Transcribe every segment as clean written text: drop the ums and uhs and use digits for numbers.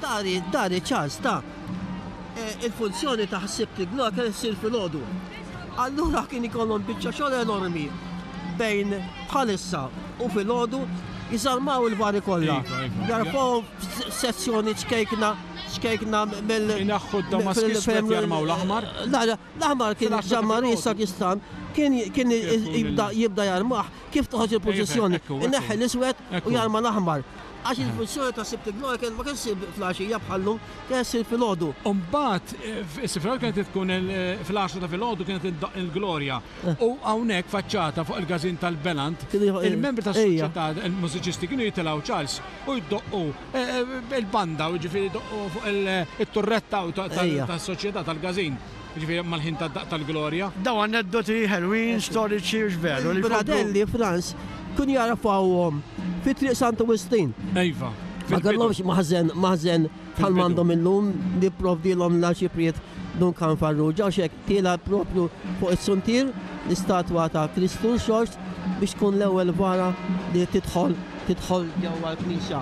Dari, dari Charles ta' eh, il-funzjoni ta' ħsibt il-glorja kienet issir filgħodu. Allura kien ikollhom biċċa xogħol enormi bejn bħalissa u filgħodu jiżarmaw il-vari kollha. Iva, iva. Jarfgħuhom f'sezzjoni ċkejkna ċkejkna mill. Inaħħu d-damask iswed jarmaw l-aħmar. L-aħmar kien Ġammari Sakistan kien kien jibda jibda jarmah kif toħroġ il-purċissjoni. Ineħħi l-iswed u jarma l-aħmar. Għax il-funzjoni ta' Sibt il-Glorja kien ma kienx issir fl-għaxija bħal-lum, kienet issir filgħodu. U mbagħad is-Sibt kienet tkun fil-għaxra ta' filgħodu kienet iddoqq il-Glorja. U hawnhekk faċċata fuq il-każin tal-Belant, il-membri tas-soċjetà, il-mużiċisti kienu jitilgħu Charles u jdoqqu il-banda, jiġifieri jdoqqu fuq it-turretta tas-soċjetà tal-każin. Jiġifieri mal-ħin tad-daqq tal-Glorja. Dawn aneddoti ħelwin, storiċi hux veru li jkomplu. Il-Bradelli, Frans, kienu jarfgħuhom fi Triq Santu Wistin. Iva. Ma kellhomx maħżen, maħżen bħal m'għandhom illum li pprovdielhom l-Arċipriet Dun Karm Farrugia u x'hekk tiela' propju fuq is-suntier l-istatwa ta' Kristu Rxoxt biex tkun l-ewwel vara li tidħol tidħol ġewwa l-knisja.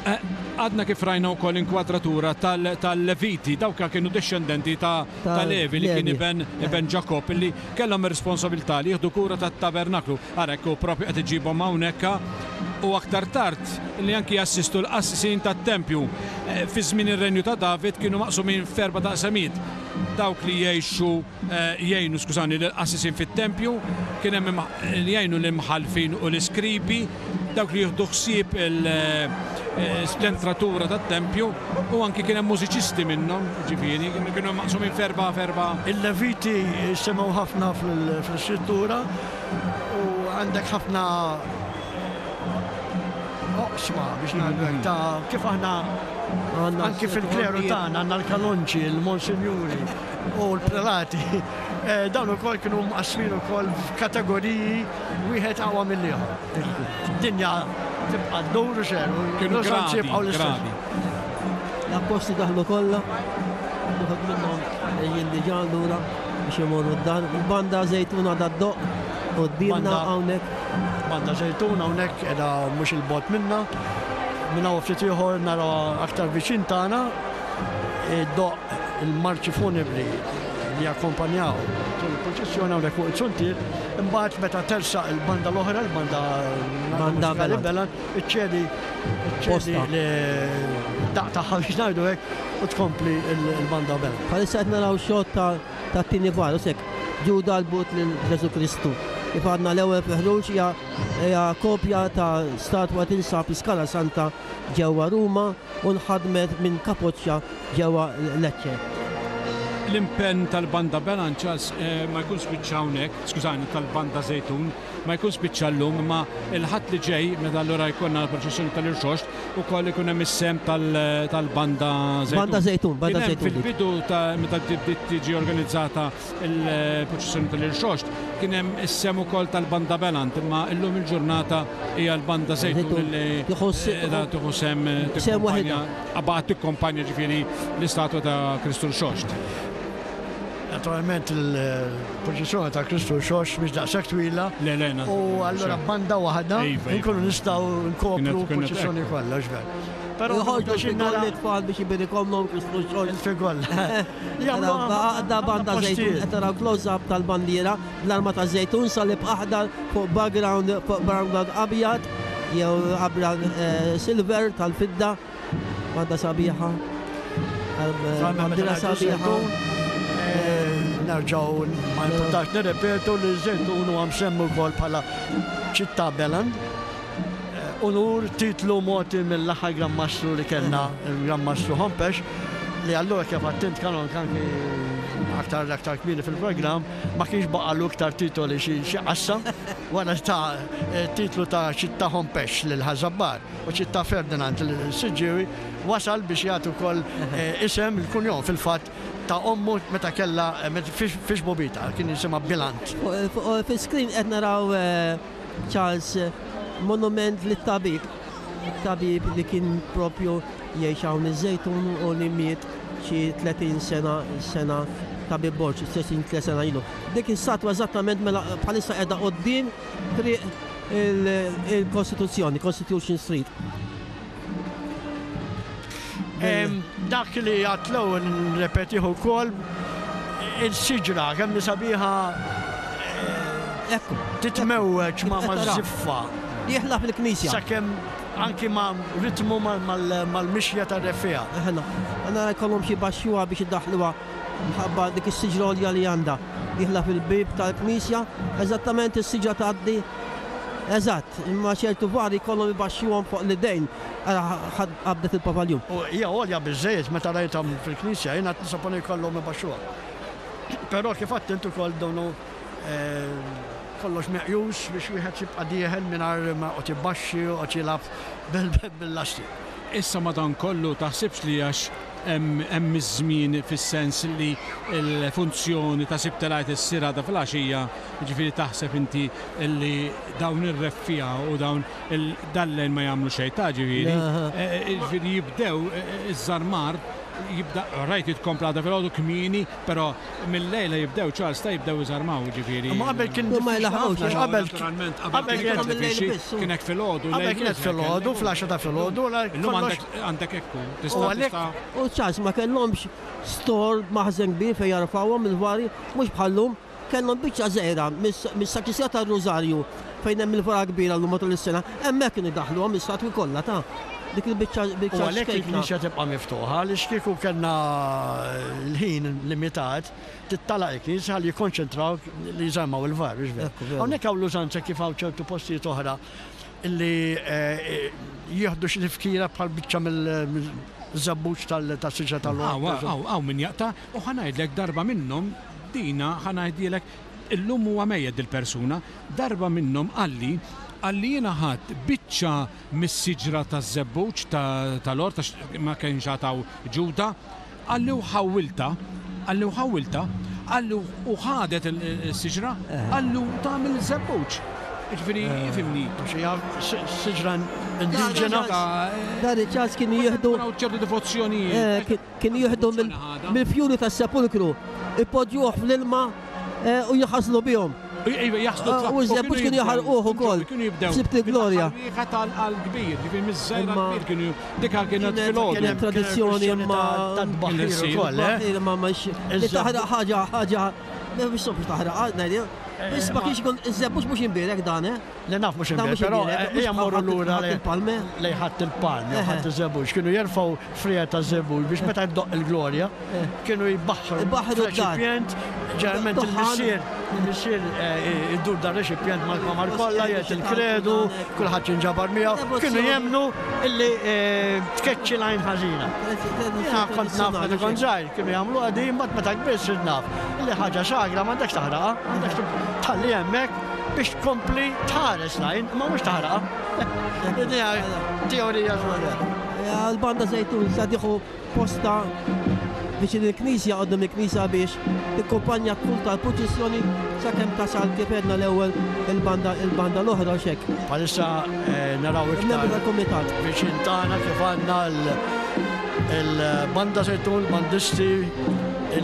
Għadna kif rajna wkoll inkwadratura tal-Leviti, dawk kienu dixxendenti ta' Levi li kien iben iben Ġakobb li kellhom ir-responsabilità li jieħdu kura tat-tabernaklu. Ara hekk hu propju qed iġibhom hawnhekk u aktar tard li anki jassistu l-qassisin tat-tempju. Fi żmien ir-renju ta' David kienu maqsumin f'erba' taqsamiet. Dawk li jgħixu jgħinu, skużani, lill-qassisin fit-tempju, kien hemm li jgħinu l-imħallfin u l-iskribi, dawk li jieħdu ħsieb l-entratura tat-tempju u anki kien hemm mużiċisti minnhom, ġifieri, kienu maqsumin f'erba' f'erba'. Il-Leviti jissemmew ħafna fl-Iskrittura u għandek ħafna oqsma biex ngħidu hekk ta' kif aħna anki fil-kleru tagħna għandna l-kanonċi, il-monsinjuri. u l-prelati, dawn ukoll kienu mqassmin ukoll f'kategoriji wieħed aqwa mill-ieħor. Dinja tibqa' ddur u xejn. Kienu gradi, gradi. L-appostli daħlu kollha, uħud minnhom qegħdin diġà lura biex imorru d-dar. Il-banda Żejtuna għadha ddoqq quddiemna hawnhekk. Banda Żejtuna hawnhekk qiegħda mhux 'il bogħod minna. Minn hawn ftit ieħor narawha aktar viċin tagħna. Iddoqq il-marċi funebri li jakkompanjaw tul il-purċissjoni hawnhekk fuq iz-zuntier, imbagħad meta tersaq il-banda l-oħra, il-banda mużikali Belan, iċċedi iċċedi d-daqq tagħha biex ngħidu hekk u tkompli l-banda Belan. Bħalissa qed naraw xot tat-tieni vara, u s'hekk Ġuda l-but lil Ġesù Kristu. Kif għadna l-ewwel fil-ħruġ hija kopja ta' statwa tinsab fi Scala Santa ġewwa Ruma. u nħadmet minn Capoccia ġewwa Lecce. L-impenn tal-Banda Belanċas ma jkunx spiċċa hawnhekk, skużani, tal-Banda Żejtun, ma jkunx spiċċa llum, imma l-Ħadd li ġej, meta allura jkollna l-proċessjoni tal-Irxoxt, ukoll ikun hemm is-sehem tal-Banda Żejtun. Banda Żejtun, Banda Żejtun. Kien hemm fil-bidu ta' meta bdiet tiġi organizzata il-proċessjoni tal-Irxoxt, kien hemm is-sehem ukoll tal-Banda Belant, imma llum il-ġurnata hija l-Banda Żejtun li qiegħda tieħu sehem tikkumpanja, baqgħet tikkumpanja ġifieri l-istatwa ta' Kristu Rxoxt. Naturalment il-proċessjoni ta' Kristu Rxoxt mhix daqshekk twila. Le, le, U allura banda waħda iva, iva. nkunu nistgħu nkopru l-proċessjoni kollha, x'ver. Però joħorġu l-figolli tfal biex ibirikomlhom Kristu Rxoxt. Il-figoll. Għadda banda żejtun, qed taraw close-up tal-bandiera bl-arma ta' żejtun salib aħdar fuq background fuq background abjad jew abjad eh, silver tal-fidda. Banda sabiħa. Bandiera sabiħa. Eh, nerġgħu ma importax nirrepetu li żejtun huwa msemmi wkoll bħala ċittà Beland. Unur, titlu mogħti mill-aħħar Gran Mastru li kellna, il-Gran Mastru Hompesch, li allura kif għedt int Kanon anki aktar aktar kmieni fil-programm, ma kienx baqagħlu iktar titoli xi qassam wara ta titlu ta' Ċittà Hompesch lil Ħaż-Żabbar u Ċittà Ferdinand lil Siġġiewi, wasal biex jagħti wkoll isem il-kunjom fil-fatt ta' ommu meta kellha fi xbubitha, kien jisimha Bilant. Fuq fi-screen qed naraw Charles, monument lit-tabib, tabib li kien propju jgħix hawn iż-Żejtun u li miet xi 30 sena sena tabib Borg, 33 sena ilu. Dik is-statwa eżattament mela bħalissa qiegħda quddiem triq il-Kostituzzjoni, Constitution Street. Dak li għadt l-ewwel nirrepetih ukoll, il-siġra kemm hi sabiħa titmewweġ ma' maż-żiffa. Dieħla fil-knisja. Sakemm anki ma' ritmu mal-mixja tar-reffiegħa. Eħe, nara jkollhom xi jbaxxuha biex idaħħluha minħabba dik is-siġra għolja li għandha. Dieħla fil-bieb tal-knisja, eżattament is-siġra tgħaddi eżatt, imma ċertu vari jkollhom ibaxxuhom fuq l-idejn. Ara qabdet il-pavaljun. U hija għolja biżżejjed meta rajtha fil-knisja, jiena nisaponi jkollhom ibaxxuha. Però kif għedt int ukoll donu kollox meqjus biex wieħed jibqa' dieħel mingħajr ma joqgħod ibaxxi u joqgħod jilgħab bil-lasti. Issa madankollu taħsibx li għax hemm iż-żmien fis-sens li l-funzjoni ta' Sibt il-Għid issir għada filgħaxija, jiġifieri taħseb inti li dawn ir-reffiegħa u dawn Dal-lejl ma jagħmlu xejn ta' ġifieri. Ġifieri jibdew iż-żarmar jibda rajt jitkompla għada filgħodu kmieni, però mill-lejla jibdew Charles ta' jibdew iżarmaw ġifieri. Imma qabel kien Ma jlaħqux. Għax qabel Naturalment qabel kien kien hekk filgħodu. Qabel kienet filgħodu, fl-għaxra ta' filgħodu. Illum għandek hekk tista' U Charles ma kellhomx store maħżen kbir fejn jarfgħuhom il-vari, mhux bħal-lum. Kellhom biċċa żgħira mis-sakristija tar-Rużarju fejn hemm il-vara kbira llum matul is-sena, hemmhekk kienu jdaħħluhom l-istatwi kollha ta' dik il-biċċa biċċa ċkejkna. U għalhekk il-knisja tibqa' miftuħa għaliex kieku kellna l-ħin limitat tittalaq il-knisja ħalli jikkonċentraw li jżarmaw il-var, mhux veru? Hawnhekk hawn l-użanza kif hawn ċertu postijiet oħra li jieħdu xi tifkira bħal biċċa mill-żebbuġ tas-siġra tal-għorq. Hawn hawn min jaqta' u ħa ngħidlek darba minnhom Dina, ħa ngħidilek, illum huwa mejjet dil-persuna, darba minnhom qalli, qalli jiena ħadt biċċa mis-siġra taż-żebbuġ tal-għort għax ma kienx għad hawn ġuda, qalli u ħawwiltha, qalli u ħawwiltha, qalli u ħadet is-siġra, qalli u tagħmel żebbuġ. Jiġifieri, ifhimni. Għax hija siġra indiġena. Dan iċ-ċans kienu jieħdu. Ċertu devozzjonijiet. Kienu jieħdu mill-fjuri tas-sepulkru, ipoġġuh fl-ilma u jħaslu bihom. Iva, jaħslu. U ż-żebbuġ kienu jaħarquh ukoll. Kienu jibdew. Sibt il-glorja. Riħa tal-kbir, ġifieri miż-żgħir għall-kbir kienu dika kienet filgħodu. Kienet tradizzjoni imma. Tad-tbaħħir ukoll, eh? Imma mhux li taħraq ħaġa ħaġa mhux sopri taħraq, ngħid. Biss ma kienx ikun iż-żebbuġ mhux imbierek dan, eh? Li naf mhux imbierek, però ejja mmorru lura lejn Ħadd il-Palm jew Ħadd iż-Żebbuġ. Kienu jerfgħu friegħa ta' żebbuġ biex meta jdoqq il-glorja kienu jbaħħru reċipjent, ġeneralment il-missier il-missier idur dan reċipjent mal-kmamar kollha jgħid il-kredu, kulħadd jinġabar miegħu, kienu jemmnu illi tkeċċi l-għajn ħażina. Jiena kont naf meta kont żgħir, kienu jagħmluha din, imbagħad meta kbirt sirt naf illi ħaġa sagra m'għandekx taħraqha, għandek tħalli hemmhekk biex tkompli tħares l-għajn, imma mhux taħraqha. Din hija teorija żgħira. L-banda Żejtun sa tieħu postha viċin il-knisja, quddiem il-knisja biex tikkumpanja t-tul tal-purċissjoni sakemm tasal kif għedna l-ewwel il-banda il-banda l-oħra u x'hekk. Bħalissa naraw iktar tal-kumitat. Viċin tagħna kif għandna l-banda Żejtun, l-bandisti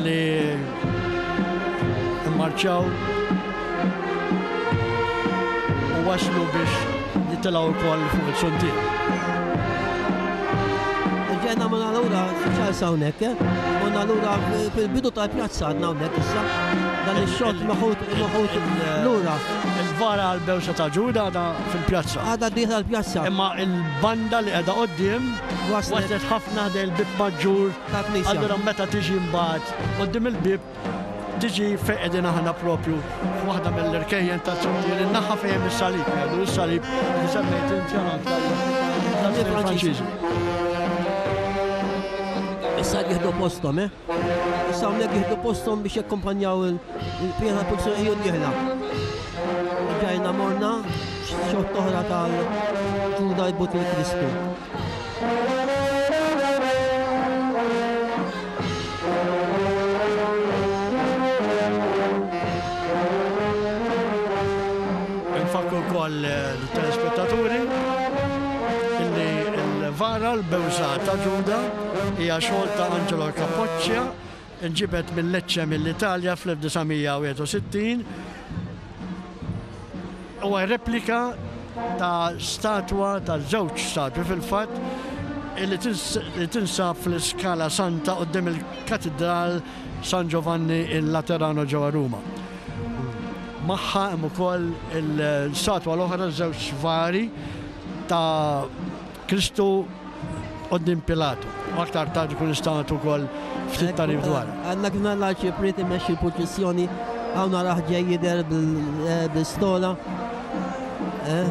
li mmarċjaw u waslu biex jitilgħu wkoll fuq il-suntier. Ġejna minn allura ċars hawnhekk, eh? Minn allura fil-bidu tal-pjazza għadna hawnhekk issa. Dan ix-xott meħud meħud lura. Il-vara għal-bewsa ta' Ġuda għadha fil-pjazza. Għadha dieħla l-pjazza. Imma il-banda li qiegħda quddiem waslet ħafna ħdejn il-bieb maġġur. Allura meta tiġi mbagħad quddiem il-bieb Tiġi fejn qegħdin aħna propju f'waħda mill-irkejjen tas-suntier, in-naħa fejn hemm is-salib, jgħidu is-salib li semmejt inti għal tal-Franċiżi. Issa jieħdu posthom, eh? Issa hawnhekk jieħdu posthom biex jakkumpanjaw il-pjena tal-pulizija ejju dieħla. Ġajna morna xott oħra tal-Ġuda jbut il-Kristu. Infakkru wkoll lit-telespettaturi illi l-vara l-bewża ta' Ġuda hija xogħol ta' Angelo Capoccia, inġibet minn Lecce mill-Italja fl-1961. Huwa replika ta' statwa, ta' żewġ statwi fil-fatt. li tinsab fl-Iskala Santa quddiem il-Katidral San Giovanni in Laterano ġewwa Ruma. Magħha hemm ukoll il-statwa l-oħra żewġ vari ta' Kristu quddiem Pilatu. U aktar tard ikun nistgħu nagħtu wkoll ftit tagħrif dwar. Għandna kien l-arċipriet imexxi l-purċissjoni hawn narah ġej jidher bil-stola. Eh?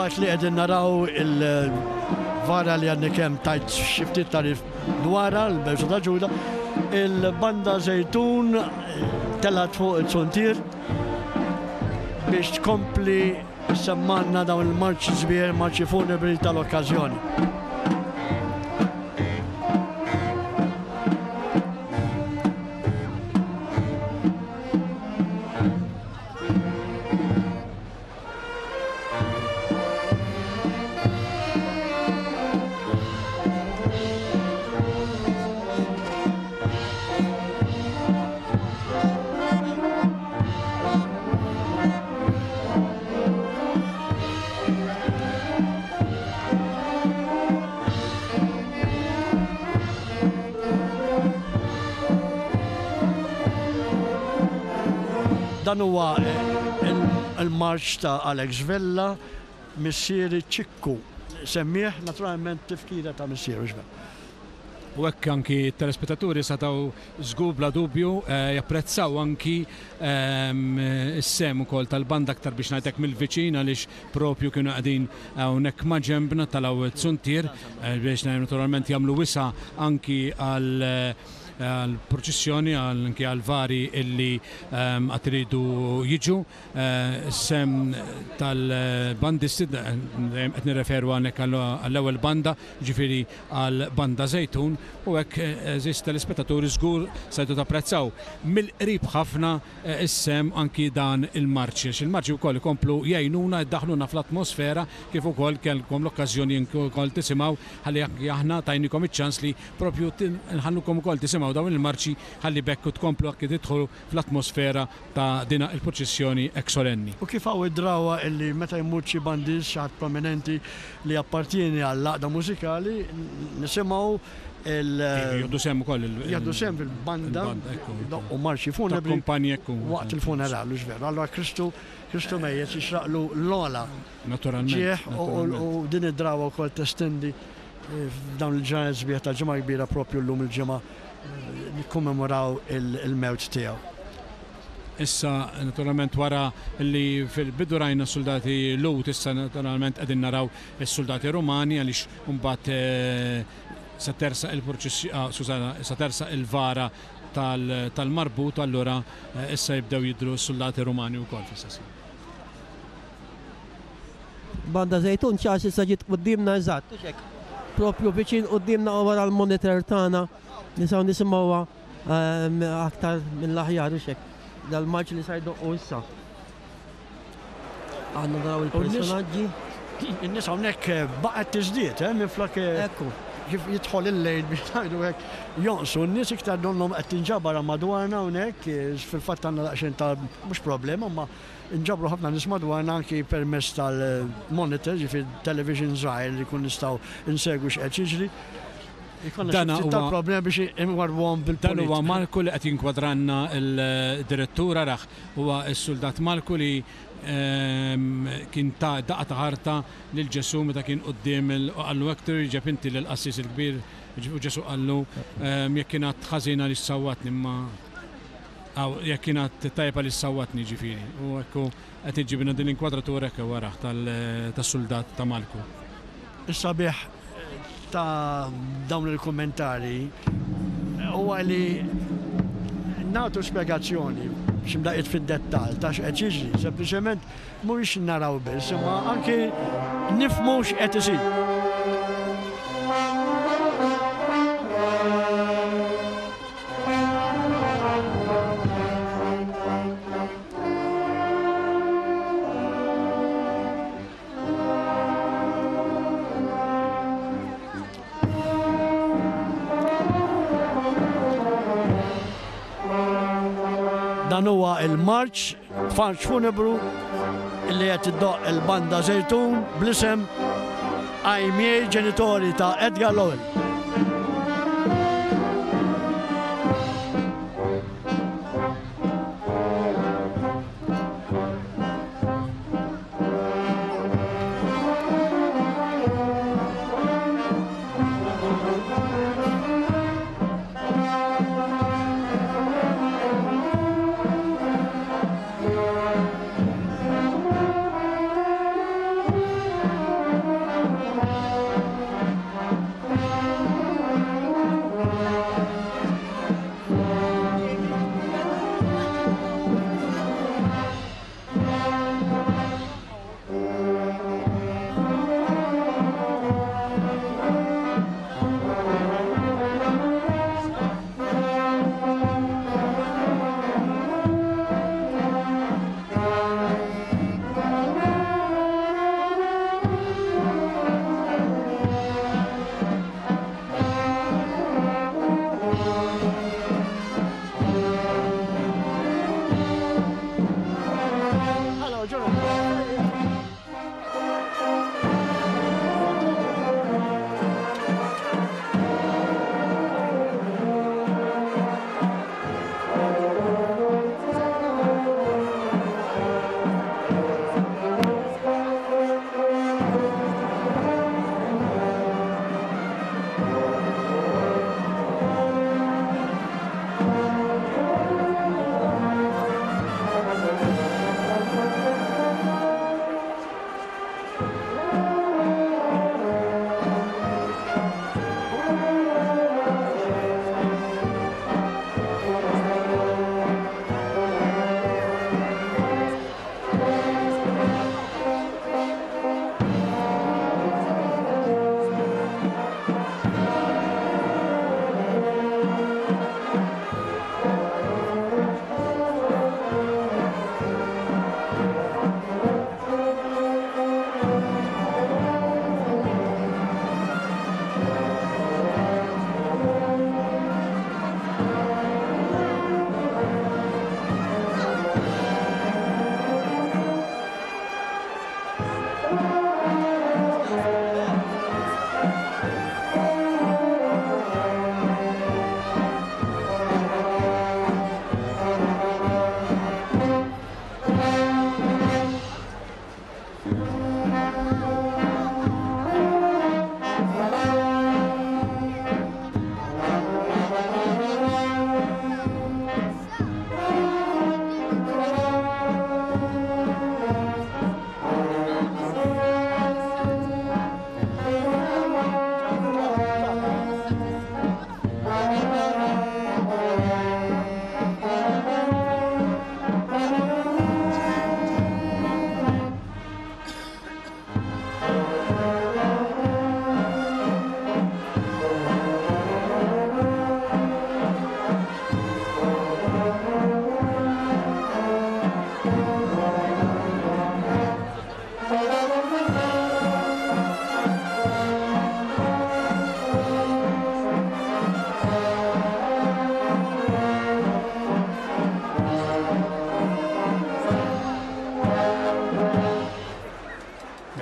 Filwaqt li qegħdin naraw il-vara li għadni kemm tajt xi ftit tagħrif dwarha, l-Bewsa ta' Ġuda, il-banda Żejtun telgħet fuq il-zuntier biex tkompli ssemmanna dawn il-marċi sbieħ, marċi funebri tal-okkażjoni. Dan huwa il-marċ ta' Alex Vella, missieri Ċikku. Semmih naturalment tifkira ta' missieru x'bek. U hekk anki t-telespettaturi setgħu żgur bla dubju japprezzaw anki s-sehem ukoll tal-banda aktar biex ngħid hekk mill-viċin għaliex propju kienu qegħdin hawnhekk ma' ġenbna telgħu t-suntier biex naturalment jagħmlu wisa' anki għal għall-purċissjoni anki għall-vari illi għad iridu jiġu. Is-sehem tal-bandisti, dejjem qed nirreferu hawnhekk għall-ewwel banda, jiġifieri għall-Banda Żejtun, u hekk għeżież telespettaturi żgur stajtu tapprezzaw mill-qrib ħafna is-sehem anki dan il-marċi, għax il-marċi wkoll ikomplu jgħinuna jdaħħluna fl-atmosfera kif ukoll kellkom l-okkażjoni wkoll tisimgħu ħalli anki aħna tajnikom iċ-ċans li propju nħallukom ukoll tisimgħu dawn il-marċi ħalli b'hekk tkomplu anki tidħlu fl-atmosfera ta' dina il-purċissjoni hekk solenni. U kif hawn id-drawwa illi meta jmut xi bandist, xi ħadd prominenti li jappartieni għall-għaqda mużikali, nisimgħu il. Jieħdu sehem ukoll il. Jieħdu sehem fil-banda, jdoqqu marċi funebri. Takkumpanji ekku. Waqt il-funeral, hux veru? Allura Kristu, Kristu mejjet jixraqlu l-ogħla. Naturalment. Ġieħ u din id-drawwa wkoll testendi f'dawn il-ġranet sbieħ tal-Ġimgħa l-Kbira propju llum il-Ġimgħa nikkommemoraw il-mewt tiegħu. Issa naturalment wara li fil-bidu rajna s-suldati Lhud issa naturalment qegħdin naraw is-suldati Rumani għaliex imbagħad se tersaq il-purċissjoni, ah, skużana, se tersaq il-vara tal-marbut allura issa jibdew jidhru s-suldati Rumani wkoll fl-istess ħin. Banda Żejtun Charles issa ġiet quddiemna eżatt, hux hekk? Propju viċin quddiemna u wara l-monitor tagħna nistgħu nisimgħuha ehm, aktar mill-aħjar hux hekk? Dal-marċ li sa jdoqqu issa. Għandna naraw il-personaġġi. In-nies hawnhekk eh, baqgħet tiżdied, eh, minflok eh, Ekku. kif jidħol il-lejl biex ngħidu hekk jonqsu n-nies iktar donnhom qed tinġabar madwarna hawnhekk, eh, fil-fatt għandna daqsxejn ta' mhux problema, ma Inġabru ħafna nies madwarna anki permezz tal-monitor, jiġifieri television żgħir li jkun nistgħu nsegwu x'qed jiġri. Ikollna xi ftit tal-problemi biex inwarrbuhom bil-pulit. Dan huwa Marku li qed jinkwadranna l-direttur, arah, huwa s-suldat Marku li kien ta daqqa ta' ħarta lil Ġesù meta kien quddiem il u qallu hekk twieġeb inti lill-qassis il-kbir u Ġesù qallu jekk kien att ħażin għaliex sawwatni imma Aw, jekk kien att tajjeb għaliex sawwatni, jiġifieri. U ekku qed iġġibilna din l-inkwadratura hekk warah tas-suldat ta' Malku. Is-sabiħ ta' dawn il-kummentari huwa li nagħtu spjegazzjoni xi mdaqqiet fid-dettall ta' x'qed jiġri. Sempliċement mhuwiex naraw biss, imma anki nifhmu x'qed isir. Dan huwa il-marċ, marċ funebru li qed iddoqq il-banda Żejtun bl-isem Ai miei genitori ta' Edgar Lowell.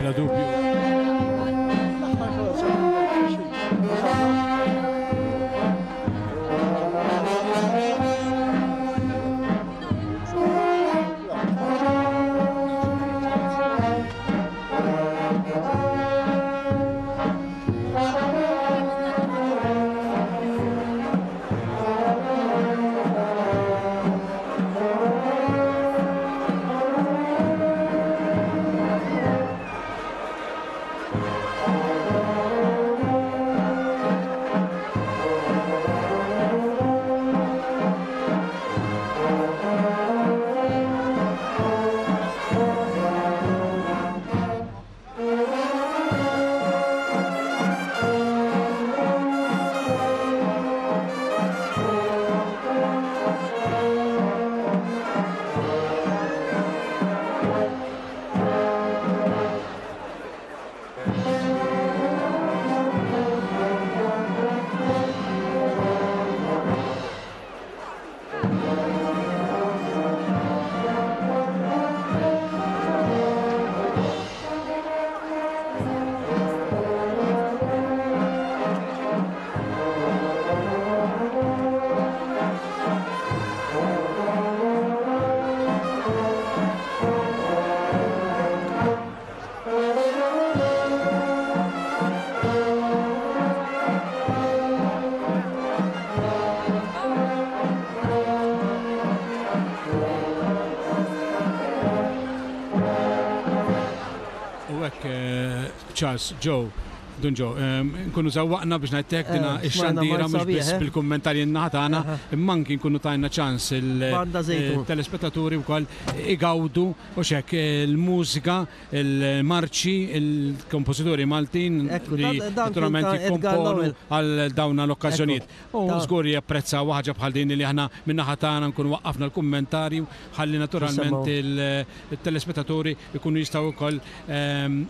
Bla dubju. Charles, Joe, Dun Joe, nkunu żewwaqna biex ngħid hekk dina x-xandira mhux biss bil-kummentarji n-naħa tagħna, imma anki nkunu tajna ċans il-telespettaturi wkoll igawdu u x'hekk il-mużika, il-marċi, il-kompożituri Maltin li naturalment jikkomponu għal dawn l-okkażjonijiet. U żgur japprezzaw ħaġa bħal din li aħna min-naħa tagħna nkunu waqqafna l-kummentarju ħalli naturalment il-telespettaturi jkunu jistgħu wkoll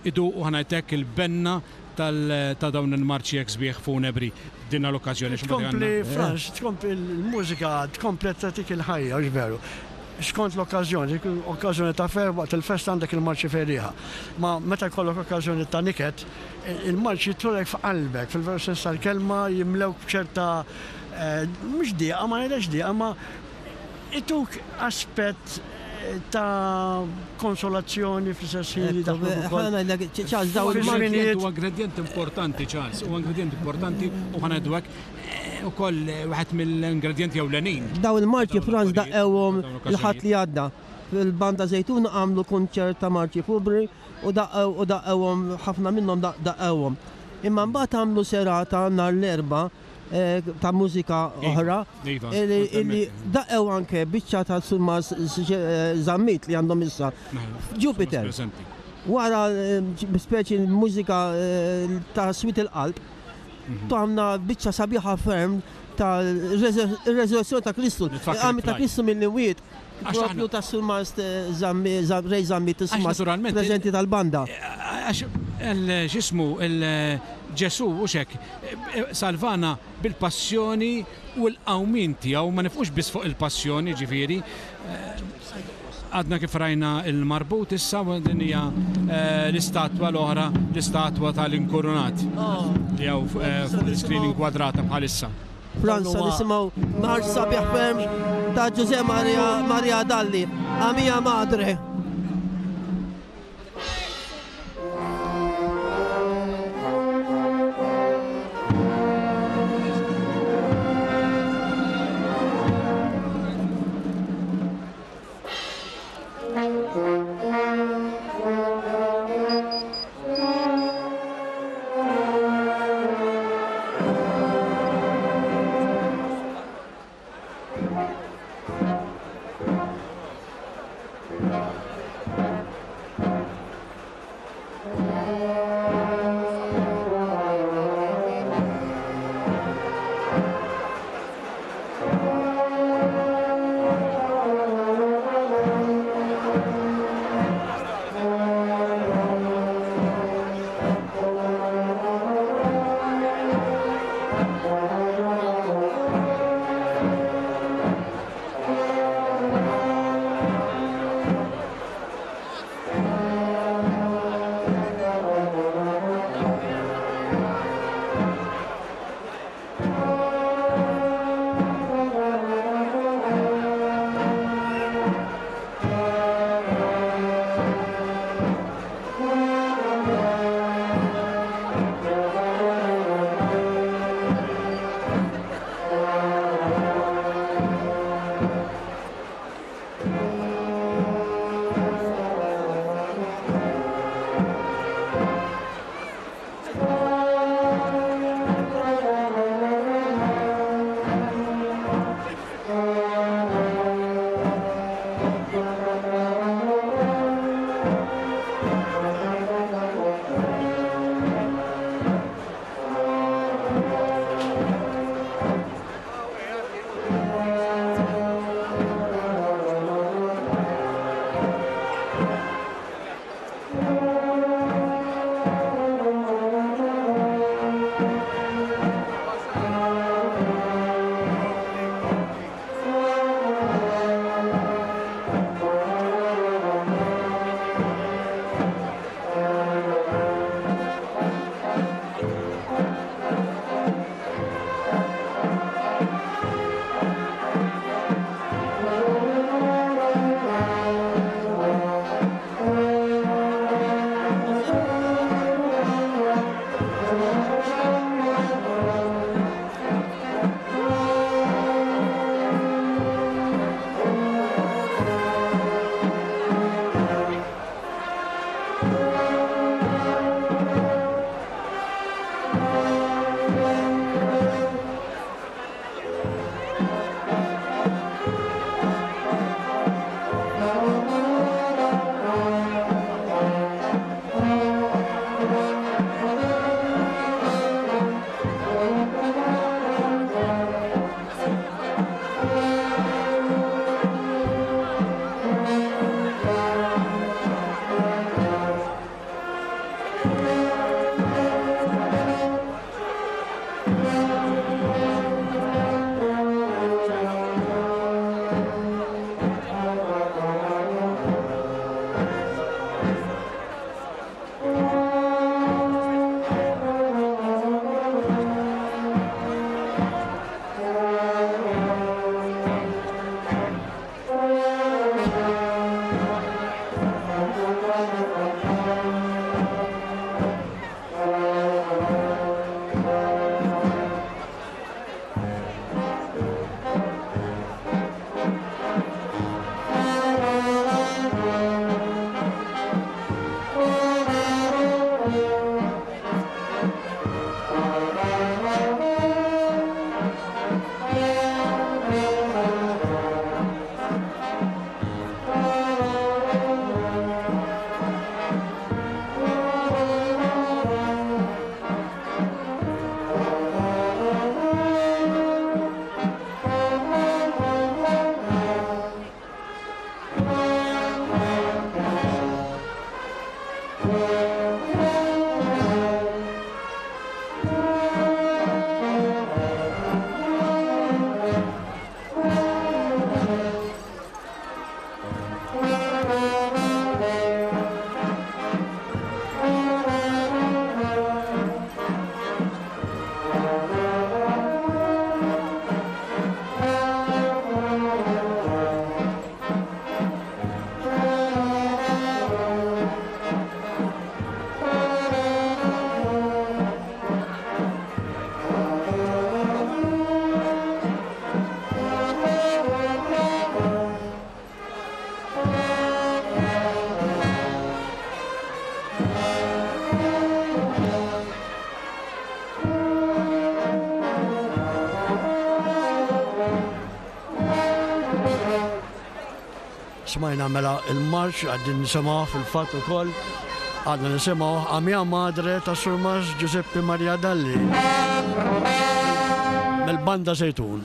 iduqu ħa ngħid hekk il-benna ta' dawn il-marċi hekk sbieħ funebri f'din l-okkażjoni. Tkompli Frans, tkompli l-mużika tkompli tagħtik il-ħajja, hux veru? Skont l-okkażjoni, okkażjoni ta' ferħ waqt il-festa għandek il-marċi ferrieħa. Ma meta jkollok okkażjoni ta' niket, Il-marċ jidħlulek f'qalbek, fil-veru sens tal-kelma, jimlewk b'ċerta, mhux dieqa, ma ngħidlekx dieqa, imma ituk aspett ta' konsolazzjoni fl-istess ħin li daħluk ukoll. Ħa ngħidlek, Charles, dawn il-marċi. Huwa ingredjent importanti, Charles, huwa ingredjent importanti u ħa ngħidu hekk ukoll wieħed mill-ingredjenti ewlenin. Dawn il-marċi Franz daqqewhom il-Ħadd li għadda. Fil-Banda Żejtuna għamlu kunċert ta' marċi funebri u daqqew u daqqewhom ħafna minnhom daqqewhom. Imma mbagħad għamlu serata nhar l-Erbgħa ta' mużika oħra illi daqqew anke biċċa ta' Surmas Zammit li għandhom issa Jupiter. Wara speċi mużika ta' swied il-qalb, tagħmna biċċa sabiħa ferm ta' resurrezzjoni ta' Kristu, il-qawmien ta' Kristu mill-imwiet. Propju ta' Surmast Ray Zammit, is-Surmast preżenti tal-banda. Għax x'ismu Ġesù hux hekk salvana bil-passjoni u l-qawmien tiegħu, ma nifqux biss fuq il-passjoni ġifieri. Għadna kif rajna l-marbut issa u din hija l-istatwa l-oħra, l-istatwa tal-inkurunat li hawn fuq l-iskrin inkwadrata bħalissa. Franza nisimgħu marx sabiħ ferm ta' Ġuże Maria, Maria Dalli, A mia madre. Smajna mela il-marċ għaddin nisimgħu fil-fatt ukoll għadna nisimgħu A Mia Madre ta' Surmas Giuseppe Maria Dalli mill-Banda Żejtun.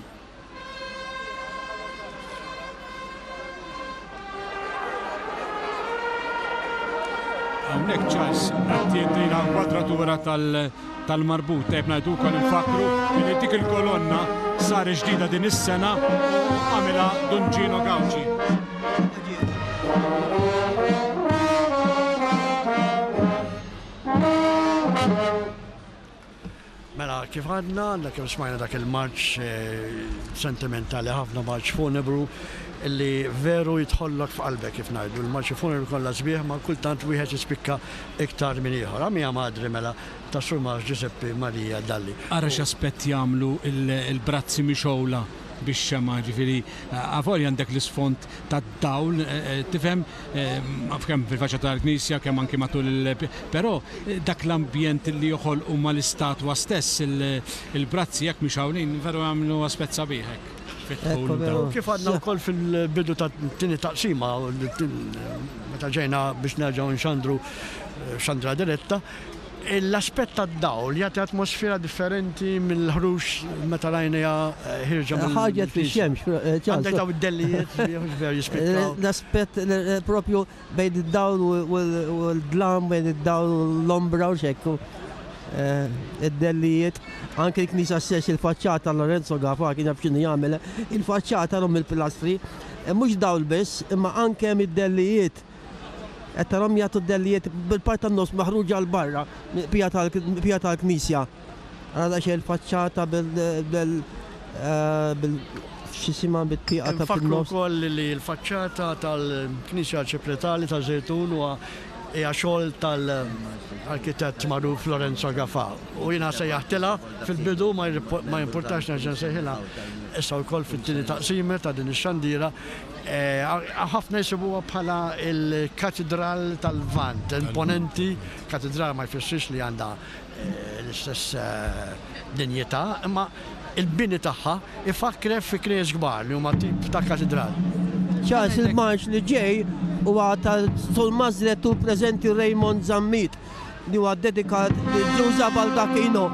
Hawnhekk Charles qed jgħidilna kwadratura tal-marbut. Tajjeb ngħidu wkoll infakkru li dik il-kolonna sar ġdida din is-sena u għamilha Dun Gino Gauci. Mela, kif għadna, għandna kemm smajna dak il-marċ sentimentali ħafna, marċ funebru, illi veru jidħollok f'qalbek kif ngħidu. Il-marċi funebru kollha sbieħ, ma kultant wieħed jispikka iktar minn ieħor. A mia madre mela ta' Sur Marx Giuseppe Maria Dalli. Ara x'aspett jagħmlu l-brazzi mixgħula bix-xemgħa, ġifieri avolja għandek l-isfond tad-dawl, tifhem, kemm fil-faċċata tal-knisja, kemm anki matul il però dak l-ambjent li joħolqu mal-istatwa stess, il-brazzi hekk mixgħulin, veru jagħmlu aspett sabiħ hekk fid-dħul. Kif għadna wkoll fil-bidu tat-tieni taqsima, meta ġejna biex nerġgħu nxandru xandra diretta, L-aspett tad-dawl jagħti atmosfera differenti mill-ħruġ meta rajniha ħierġa mill. Ħarġet fix-xemx. Għandek dawn id-dellijiet veru jispikkaw. L-aspett propju bejn id-dawl u l-dlam, bejn id-dawl u l-ombra u x'hekk. Id-dellijiet, anke l-knisja stess il-faċċata Lorenzo Gafà kien jaf x'inhu jagħmel, il-faċċata l il-pilastri, mhux dawl biss, imma anke mid-dellijiet. Qed tarahom jagħtu d-dellijiet bil-parti tan-nofs maħruġa 'l barra mill-qbija tal-knisja. Ara daqsxejn il-faċċata bil bil x'isimha bit-tieqa ta' Infakkru fin-nofs. wkoll li l-faċċata tal-Knisja Arċipretali taż-Żejtun huwa hija xogħol tal-arkitett magħruf Lorenzo Gafà. U jiena sejjaħtilha fil-bidu ma jimpurtax nerġa' nsejħilha issa wkoll fit-tieni taqsima ta' din ix-xandira. Ħafna jsibuha bħala l-katidral tal-Lvant, imponenti, katidral ma jfissirx li għandha l-istess dinjità, imma l-bini tagħha ifakkrek fi knejjes kbar li huma tip ta' katidral. Charles il-marċ li ġej huwa ta' Sul Mażrettur preżenti Raymond Zammit. li huwa dedikat lil Ġuża Baldacchino.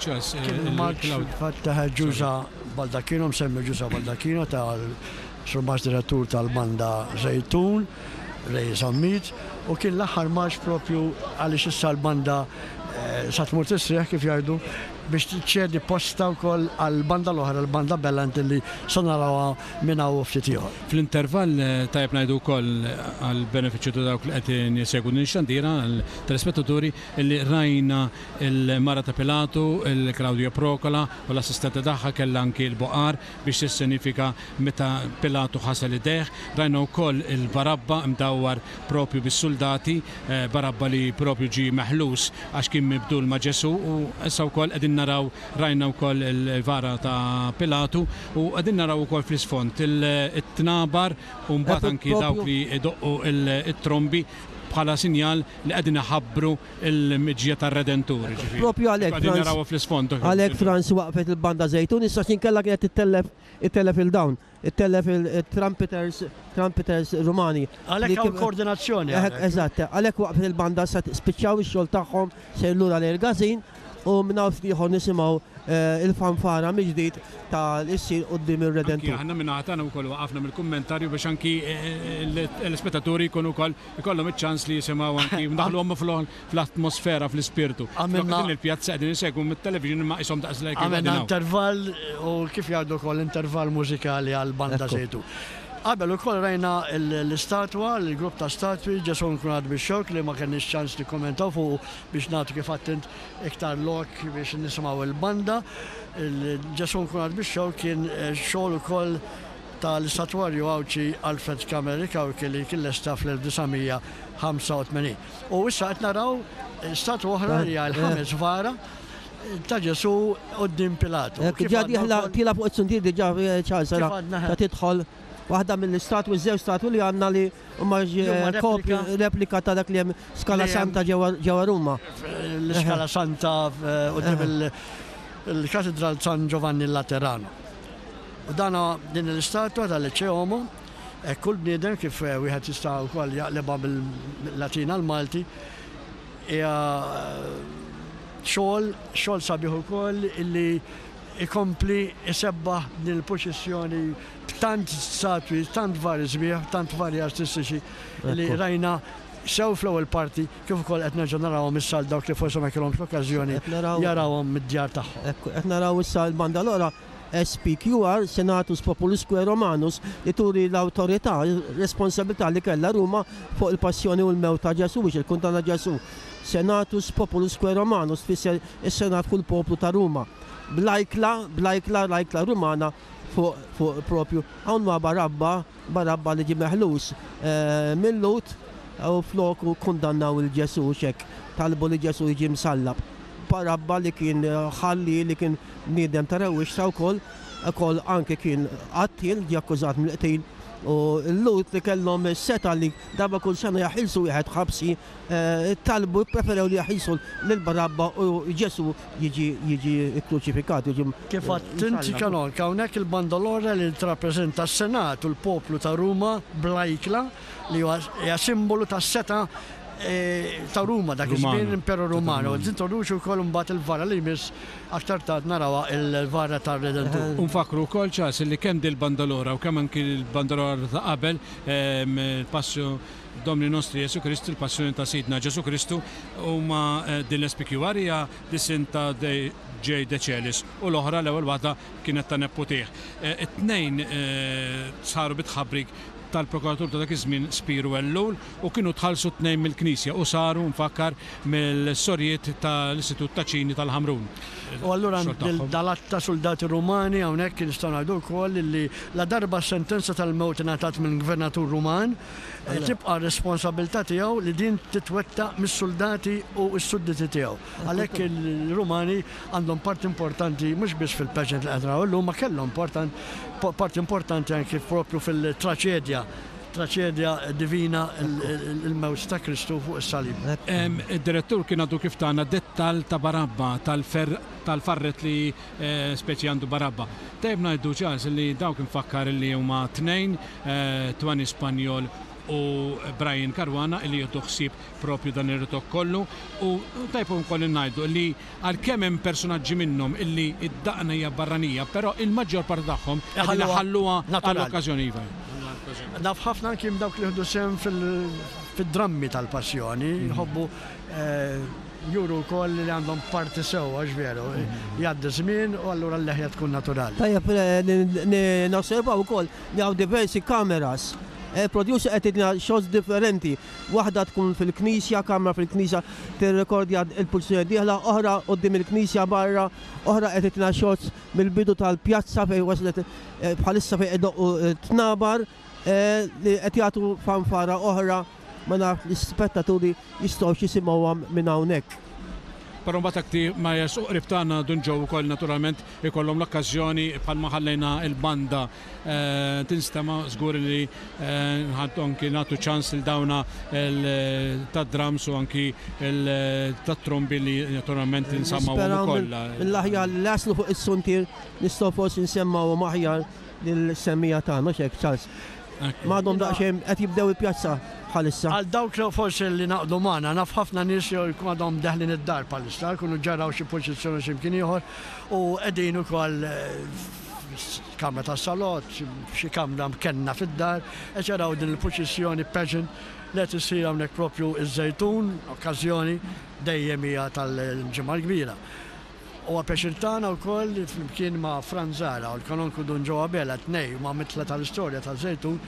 Charles. Kien il-marċ fil-fatt ta' Ġuża Baldacchino, msemmi Ġuża Baldacchino tal-Surmast Direttur tal-Banda Żejtun, Ray Zammit, u kien l-aħħar marċ propju għaliex issa l-banda sa tmur tistrieħ kif jgħidu biex tċedi postha wkoll għall-banda l-oħra, l-Banda Bellant li sa narawha minn hawn u ftit ieħor. Fl-intervall, tajjeb ngħidu wkoll għall-benefiċċju ta' dawk li qed jsegwu din ix-xandira, għall-telespettaturi, illi rajna l-mara ta' Pilatu, il-Claudia Procola, u l-assistenti tagħha kellha anki l-buqar biex tissenifika meta Pilatu ħasel idejh. Rajna wkoll il-Barabba mdawwar propju bis-suldati, Barabba li propju ġie meħlus għax kien mibdul ma' Ġesù u issa wkoll qegħdin naraw rajna wkoll il-vara ta' Pilatu u qegħdin naraw ukoll fl-isfond it-tnabar u mbagħad anki dawk li jdoqqu t-trombi bħala sinjal li qegħdin iħabbru l-miġja tar-Redentur, jiġifieri. Propju għalhekk Qegħdin narawha fl-isfond. Għalhekk Frans waqfet il-banda Żejtun issa għax inkella kienet ittellef ittellef 'il dawn, ittellef il-trumpeters trumpeters Rumani. Għalhekk hawn koordinazzjoni hawnhekk. Eżatt, għalhekk waqfet il-banda issa spiċċaw ix-xogħol tagħhom sejrin lura lejn il-każin u minn hawn ftit ieħor nisimgħu il-fanfara mill-ġdid ta' li ssir quddiem ir-Redentur. Anki aħna min-naħa tagħna wkoll waqafna mill-kummentarju biex anki l-ispettaturi jkunu wkoll ikollhom iċ-ċans li jisimgħu anki ndaħħluhom fl-atmosfera, fl-ispirtu. Flok din il-pjazza qegħdin insegwu mit-television imma qishom daqs li kieku qegħdin hawn. Għamilna intervall u kif jgħidu wkoll intervall mużikali għall-banda Żejtun. Qabel ukoll rajna l-istatwa, l-grupp ta' statwi Ġesù Nkrunat bix-Xewk li ma kellniex ċans nikkummentaw fuqu biex nagħtu kif għedt int iktar lok biex nisimgħu l-banda. Il-Ġesù Nkrunat bix-Xewk kien xogħol ukoll tal-istatwarju Għawdxi Alfred Camilleri Cauchi li kien lesta fl-1985. U issa qed naraw statwa oħra li hija l-ħames vara ta' Ġesù quddiem Pilatu. Diġà dieħla tiela' fuq it-suntier diġà Charles ta' tidħol waħda mill-istatwi, żewġ statwi li għandna li huma kopji replika ta' dak li hemm Scala Santa ġewwa Ruma. L-Iskala Santa quddiem il-Katidral San Giovanni Laterano. U dan din l-istatwa tal-Ecce Homo, hekk kull bniedem kif wieħed jista' wkoll jaqlibha mill-Latin għall-Malti, hija xogħol, xogħol sabiħ ukoll illi jkompli jsebbaħ din il-purċissjoni b'tant statwi, tant vari sbieħ, tant vari artistiċi li rajna sew fl-ewwel parti kif ukoll qed nerġgħu narawhom issa għal dawk li forsi ma kellhomx l-okkażjoni jarawhom mid-djar tagħhom. Ekku, qed naraw issa l-bandalora SPQR, Senatus Populusque Romanus, li turi l-awtorità, r-responsabilità li kellha Ruma fuq il-passjoni u l-mewt ta' Ġesù biex il-kundanna Ġesù. Senatus Populusque Romanus tfisser is-Senat u l-poplu ta' Ruma. Bl-ajkla, bl-ajkla, l-ajkla Rumana fuq, fuq propju. Hawn ma' Barabba, Barabba li ġie meħlus mil-Lhud u floku kkundannaw 'il Ġesù x'hekk talbu li Ġesù jiġi msallab. Barabba li kien ħalliel, li kien bniedem ta' rewwixta wkoll, ukoll anke kien qattiel, ġie akkużat mill-qtil u l-Lhud li kellhom is-setgħa li darba kull sena jaħilsu wieħed ħabsi, talbu, ppreferew li jaħilsu lil Barabba u Ġesù jiġi jiġi kkruċifikat, jiġi Kif għedt inti Kanonk, hawnhekk il-bandalora li tirrappreżenta s-Senat u l-poplu ta' Ruma bl-ajkla li huwa hija simbolu tas-setgħa ta' Ruma dak iż-żmien l-Imperu Ruman. U tintroduċi wkoll imbagħad il-vara li jmiss aktar tard narawha il-vara tar-Redentur. U nfakkru wkoll Charles li kemm dil-bandalora u kemm anki l-bandalora ta' qabel il-Passio Domini Nostri Jesu Christi, il-Passjoni ta' Sidna Ġesù Kristu, huma din l-SPQR hija disinn ta' J. De Celis u l-oħra l-ewwel waħda kienet ta' neputih. It-tnejn saru bi tħabbrik tal-prokuratur ta' dak iż-żmien Spiru Ellul u kienu tħallsu t-tnejn mill-Knisja u saru, nfakkar, mill-sorijiet tal-Istitut Taċini tal-Ħamrun. U allura dal-għadd ta' suldati Rumani hawnhekk nistgħu ngħidu wkoll li ladarba s-sentenza tal-mewt ingħatat minn gvernatur Ruman, tibqa' r-responsabbiltà tiegħu li din titwettaq mis-suldati u s-sudditi tiegħu. Għalhekk il-Rumani għandhom parti importanti mhux biss fil-pageant li qed naraw illum, ma kellhom parti importanti anki propju fil-traċedja, traċedja divina il-mewt ta' Kristu fuq is-salib. Id-direttur kien għadu kif tana dettall ta' Barabba, tal-farret li speċi għandu Barabba. Tajjeb ngħidu, Charles, li dawk infakkar li huma tnejn, Twani Spanjol. u Brian Caruana li jieħdu ħsieb propju dan ir-ritokk kollu u tajjeb ukoll ngħidu li għalkemm hemm personaġġi minnhom illi d-daqna hija barranija, però il-maġġor parti tagħhom qegħdin iħalluha għall-okkażjoni iva. Naf ħafna anki minn dawk li jieħdu sehem fid-drammi tal-passjoni, jħobbu juru wkoll li għandhom parti sewwa għax veru, jgħaddi żmien u allura l-leħja tkun naturali. Tajjeb li nosservaw ukoll li hawn diversi kameras. Il-producer qed jagħtina shots differenti. Waħda tkun fil-knisja, kamra fil-knisja tirrekordja l-pulizija dieħla, oħra quddiem il-knisja barra, oħra qed tagħtina shots mill-bidu tal-pjazza fejn waslet bħalissa fejn qed idoqqu t-tnabar li qed jagħtu fanfara oħra ma nafx l-ispettaturi jistgħux jisimgħuha minn hawnhekk. Però mbagħad akti ma jersqu qrib tagħna Dun Joe ukoll naturalment ikollhom l-okkażjoni bħalma ħallejna l-banda tinstema' żgur li nħaddu anki nagħtu ċans lil dawna tad-drums u anki tat-trombi li naturalment insemmgħuhom ukoll. Mill-aħjar li jaslu fuq is-suntier nistgħu forsi nsemmgħuhom aħjar lill-semmiegħa tagħna, mhux hekk Charles? M'għadhom daqsxejn qed jibdew il-pjazza bħalissa. Għal dawk li forsi li ngħaqdu magħna, naf ħafna nies jew jkunu għadhom deħlin id-dar bħalissa, jkunu ġaraw xi purċissjoni xi mkien ieħor u qegħdin ukoll f'kamra tas-salott, f'xi kamra mkenna fid-dar, qed jaraw din il-purċissjoni pageant li qed issir hawnhekk proprju ż-Żejtun, okkażjoni dejjem hija tal-Ġimgħa l-Kbira. Huwa pjaċir tagħna wkoll li flimkien ma' Frans Zahra u l-Kanonku Dun Joe Abela, tnej huma mitla tal-istorja taż-Żejtun,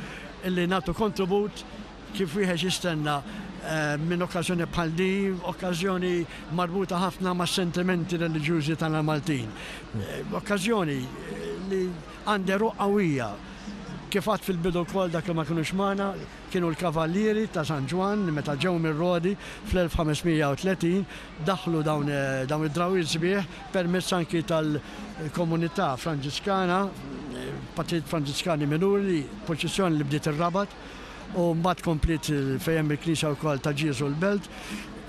illi nagħtu kontribut kif wieħed jistenna minn okkażjoni bħal din, okkażjoni marbuta ħafna mas-sentimenti reliġjużi tagħna l-Maltin. Okkażjoni li għandha għeruq qawwija. Kif għadt fil-bidu wkoll dak li ma kinux magħna, Kienu l-Kavallieri ta' San Ġwann li meta ġew mir-Rodi fl-1530 daħħlu dawn dawn id-drawwiet sbieħ permezz anki tal-komunità Franġiskana, Patrijiet Franġiskani Minuri, purċissjoni li bdiet ir-Rabat u mbagħad kompliet fejn hemm il-knisja wkoll ta' Ġieżu l-Belt.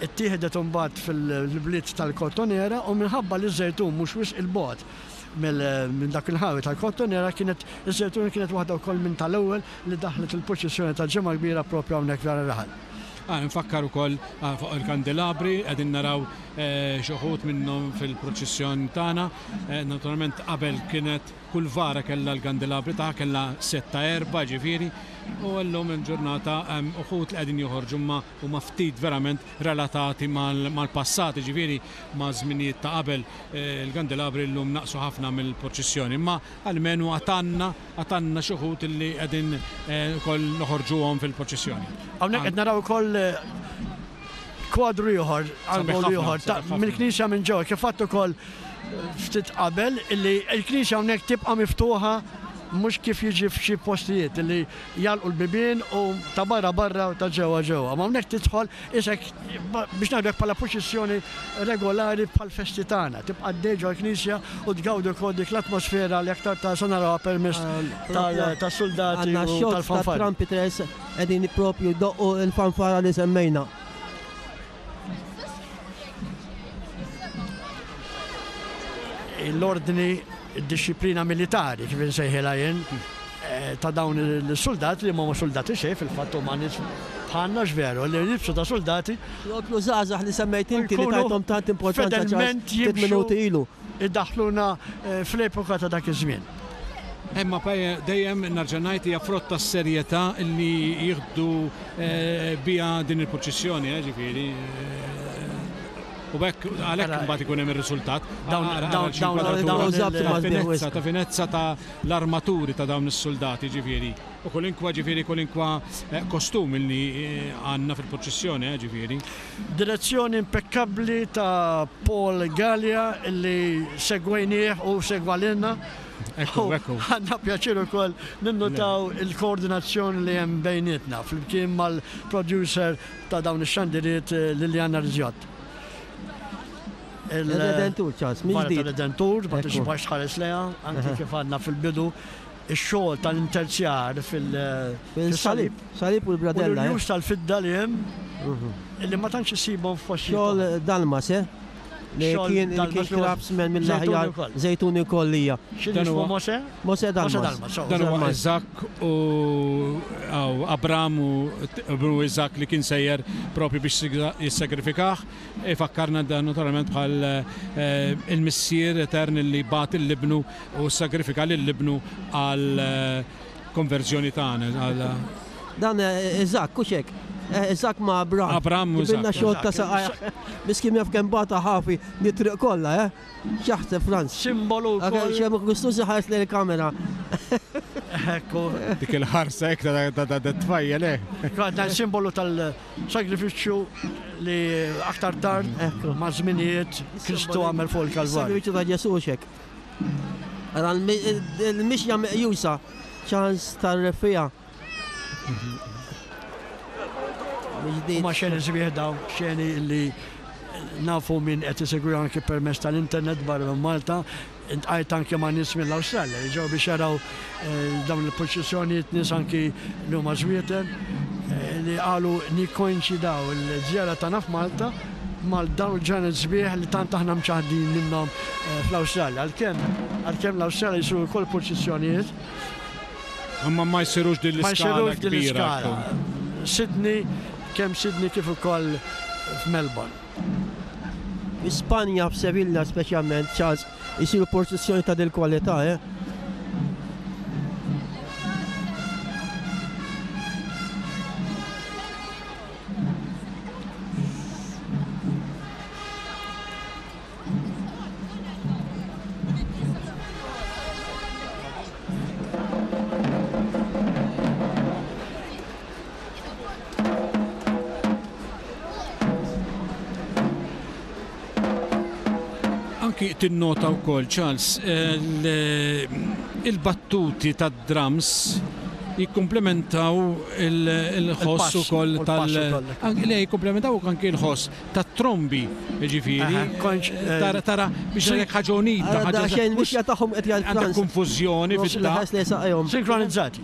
Ittieħdet imbagħad fil-bliet tal-Kottonera u minħabba li ż-Żejtun mhux wisq 'il bogħod minn dak il-ħawi tal-Kottonera kienet iż-Żejtun kienet waħda wkoll minn tal-ewwel li daħlet il-purċissjoni tal-Ġimgħa l-Kbira proprju hawnhekk f'dan ir-raħal. Infakkar ukoll fuq il-kandelabri, qegħdin naraw xi wħud minnhom fil-purċissjon tagħna. Naturalment qabel kienet kull vara kellha l-kandelabri tagħha, kellha sett ta' erbgħa ġifieri, u llum il-ġurnata hemm uħud li qegħdin joħorġu imma huma ftit verament relatati mal-passat, jiġifieri ma' żminijiet ta' qabel. Il-kandelabri llum naqsu ħafna mill-purċissjoni, imma almenu għad għandna Għad għandna xi wħud li qegħdin ukoll noħorġuhom fil-proċessjoni. Hawnhekk qed naraw ukoll kwadru ieħor, angolu ieħor mill-knisja minn ġewwa kif għadt ukoll ftit qabel illi l-knisja hawnhekk tibqa' miftuħa mhux kif jiġi f'xi postijiet illi jagħlqu l-bibien u ta' barra barra u ta' ġewwa ġewwa. Ma hawnhekk tidħol isek biex ngħidu hekk bħala purċissjoni regolari bħall-festi tagħna. Tibqa' għaddej ġol-knisja u tgawdi wkoll dik l-atmosfera li aktar tard se narawha permezz tas-suldati u tal-fanfari. Trumpeters qegħdin propju jdoqqu l-fanfara li semmejna. L-ordni, id-dixxiplina militari kif insejħilha jien, ta' dawn is-suldati li m'huma suldati xejn, fil-fatt huma nies bħalna x'veru, li jilbsu ta' suldati. Propju żgħażagħ li semmejt inti li tajthom tant importanza fedelment ftit minuti ilu. Idaħħluna fl-epoka ta' dak iż-żmien. Imma dejjem nerġa' ngħid hija frott tas-serjetà li jieħdu biha din il-purċissjoni, ġifieri. U b'hekk għalhekk imbagħad ikun hemm ir-riżultat. Dawn dawn ta' finezza ta' l-armaturi ta' dawn is-suldati, ġifieri, u kulinkwa, ġifieri, kulinkwa kostum li għandna fil-purċissjoni, ġifieri. Direzzjoni impekkabbli ta' Paul Galea li segwejnieh u segwa lilna. Ekku, ekku. Għandna pjaċir ukoll ninnutaw il-koordinazzjoni li hemm bejnietna flimkien mal-producer ta' dawn ix-xandiriet Liliana Rizjott. Il-Redentur, Charles, minn ġdid. Il-Redentur, ma tixbax tħares leha, anki kif għadna fil-bidu, ix-xogħol tal-interzjar fil-salib. Salib u l-bradella. U l-irjus tal-fidda li hemm, mhm. li ma tantx issibhom f'postijiet. Xogħol Dalmas, eh? Li kien kien craftsman mill-aħjar Żejtuni wkoll hija. X'inhu Mosè? Mosè Dalmas. Dan huwa Iżakk u Abram u ibnu Iżakk li kien sejjer propju biex jissagrifikah. Ifakkarna dan naturalment bħal il-Missier etern li bagħat lil ibnu u ssagrifika lil ibnu għal konverżjoni tagħna. Dan Iżakk, hux hekk? Iżakk ma' Abram. Abram u Iżakk. Ġibilna xogħol ta' saqajh. Miskin jaf kemm bata ħafi mit-triq kollha, eh? X'jaħseb Franz? Simbolu wkoll. Xemm Gustuż iħares lejn il-kamera. Ekku. Dik il-ħarsa hekk ta' tfajjel, eh. Dan simbolu tal-sagrifiċċju li aktar tard ma' żminijiet Kristu għamel fuq il-Kalvarju. Sagrifiċċju ta' Ġesù hekk. Ara l-mixja meqjusa ċans tar-reffiegħa. Huma xeni sbieħ dawn, xeni li nafu min qed isegwi anki permezz tal-internet barra minn Malta. Intqajt anki ma' nies mill-Awstralja li ġew biex jaraw dawn il-purċissjonijiet, nies anki li huma Żwieten li qalu nikkoinċidaw il-żjara tagħna f'Malta mal dawn il-ġranet sbieħ li tant aħna mċaħħdin minnhom fl-Awstralja. Għalkemm għalkemm l-Awstralja jsiru wkoll purċissjonijiet. Imma ma jsirux din l-iskala kbira. Sydney, kemm Sydney kif ukoll f'Melbourne. Fi Spanja, f'Sevilla speċjalment, Charles, isiru purċissjoni ta' dil-kwalità, eh? Anki tinnota wkoll, Charles, il-battuti tad-drums jikkumplementaw il-ħoss ukoll tal- Le, jikkumplementaw anki l-ħoss tat-trombi, jiġifieri. Tara tara biex ngħidlek ħaġa unita, ħaġa. Daqsxejn mixja tagħhom qed jgħid Għandek konfużjoni fid-daqq. Sinkronizzati.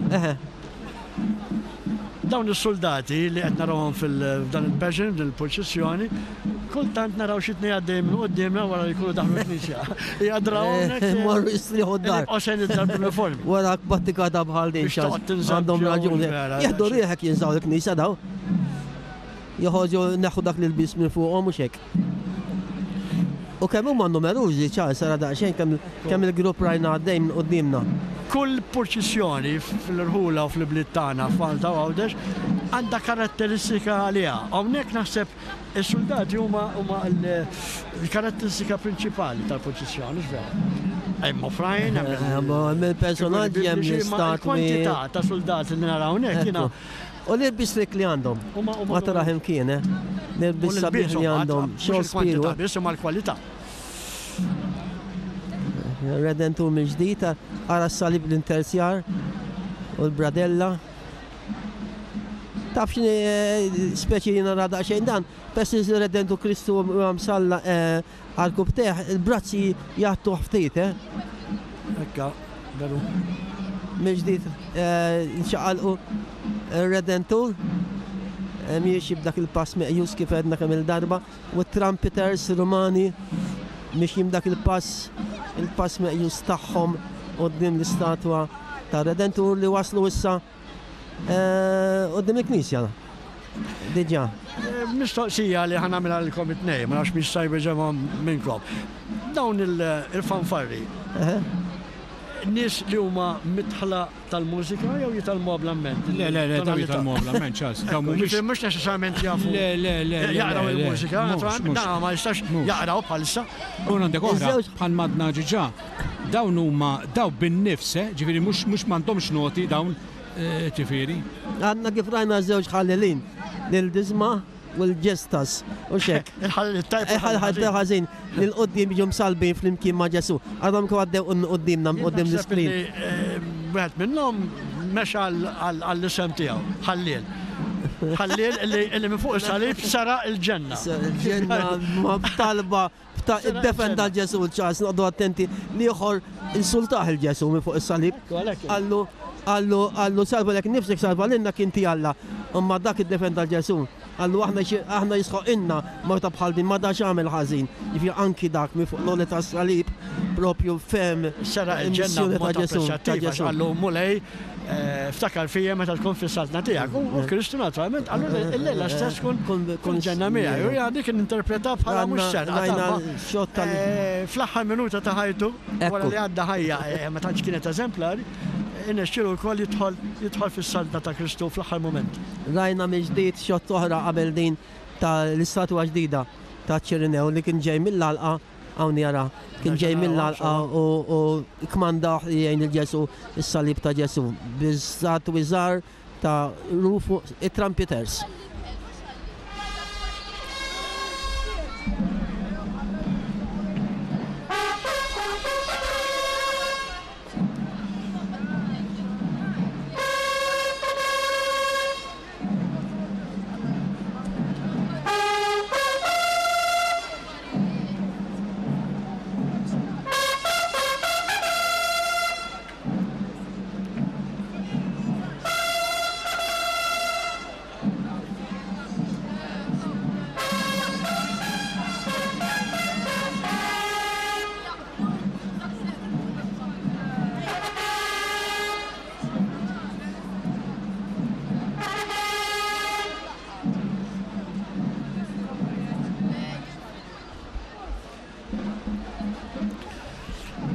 Dawn is-suldati li qed narawhom f'dan il-passion, f'din il-purċissjoni, kultant naraw xi tnejn għaddejjin minn quddiemna wara li jkunu daħlu l-knisja. Hija draw hawnhekk. Morru jistrieħu d-dar. Jibqgħu sejrin id-dar bl-uniformi. Wara battikata bħal din. Biex toqgħod tinża' Għandhom raġun. Jieħdu rieħek jinżgħu l-knisja daw. Joħorġu neħħu dak l-ilbies minn fuqhom mhux hekk. U kemm huma numerużi, Charles, ara daqsxejn kemm kemm il-grupp rajna għaddej minn quddiemna. Kull purċissjoni fl-irħula u fl-ibliet tagħna f'Malta u Għawdex għandha karatteristika għaliha. Hawnhekk naħseb is-suldati huma huma l-karatteristika prinċipali tal-purċissjoni, mhux vera? Hemm oħrajn, hemm il-personaġġi, hemm l-istatwi. Il-kwantità ta' suldati li naraw hawnhekk jiena U l-ilbies rik li għandhom. Ma taraħ imkien, eh? L-ilbies sabiħ li għandhom. Xogħol spiru. Biss imma l-kwalità. Redentur mill-ġdid, ara s-salib l-interzjar u l-bradella. Taf x'inhi eh, speċi li nara daqsxejn dan, pess il-Redentur Kristu msalla eh, Għarkupptejh, il-brazzi jgħattuh ftit, eh? Ekka, veru. Mill-ġdid nċaqalqu r-Redentur miexi b'dak il-pass meqjus kif għedna kemm il-darba u t-trumpeters Rumani mixjin b'dak il-pass il-pass meqjus tagħhom quddiem l-istatwa tar-Redentur li waslu issa Quddiem il-knisja. Diġà. Mistoqsija li ħa nagħmilha lilkom it-tnejn, ma nafx min jista' jwieġebha minnkom. Dawn il-fanfarri, nies li huma midħla tal-mużika jew jitgħallmuha bl-amment? Le, le, le, dawn jitgħallmuha bl-amment, Charles. Dawn mhumiex. Mhux neċessarjament jafu. Le, le, le. Jaqraw il-mużika, naturalment, dan ma jistax jaqraw bħalissa. U għandek oħra, bħal madna ġiġa, dawn huma daw bin-nifs, eh, ġifieri mhux mhux m'għandhomx noti dawn, eh, ġifieri. Għadna kif rajna żewġ ħallelin, lil Disma u l-Ġestas, u xek. Il-ħallel it-tajb. Il-ħallel ħażin li l-qoddim jiġu msalbin flimkien ma' Ġesu. Għadhom kif għaddew qudiemna quddiem l-iskrin. Eh, wieħed minnhom mexa għall-isem tiegħu, ħalliel. Ħalliel li minn fuq is-salib sara il-ġenna. Il-ġenna ma b'talba Iddefenda l-Ġesu ċas, noqdu attenti li ieħor insultah il-Ġesu minn fuq is-salib. Qallu, qallu, qallu salva lek nifsek salva lilna kien ti Alla. Imma dak iddefenda 'l Ġesù. Qallu aħna aħna jisħoqilna mewta bħal din, ma dax għamel ħażin. Jiġifieri anki dak minn fuq l-għoli tas-salib propju fehem Seraq il-ġenna il-missjoni ta' b'mod Ġesù, ta' apprezzattiv għax Ġesù. qallu Mulej ftakar fija meta tkun fis-saltna tiegħek. U Kristu naturalment qallu illejla stess tkun fil-ġenna miegħi. U jiena dik ninterpreta bħala mhux serqa ta' Rajna xott tal fl-aħħar minuta ta' ħajtu, wara li għadda ħajja ma tantx kienet eżemplari, irnexxielu wkoll jidħol jidħol fis-saltna ta' Kristu fl-aħħar mument. Rajna mill-ġdid xott oħra qabel din ta' l-istatwa ġdida ta' Ċirinew li kien ġej mill-għalqa, hawn jara, kien ġej mill-għalqa u u kkmandawh li jgħin lil Ġesù, is-salib ta' Ġesù, bi statwi żgħar ta' Rufu it-Trumpeters.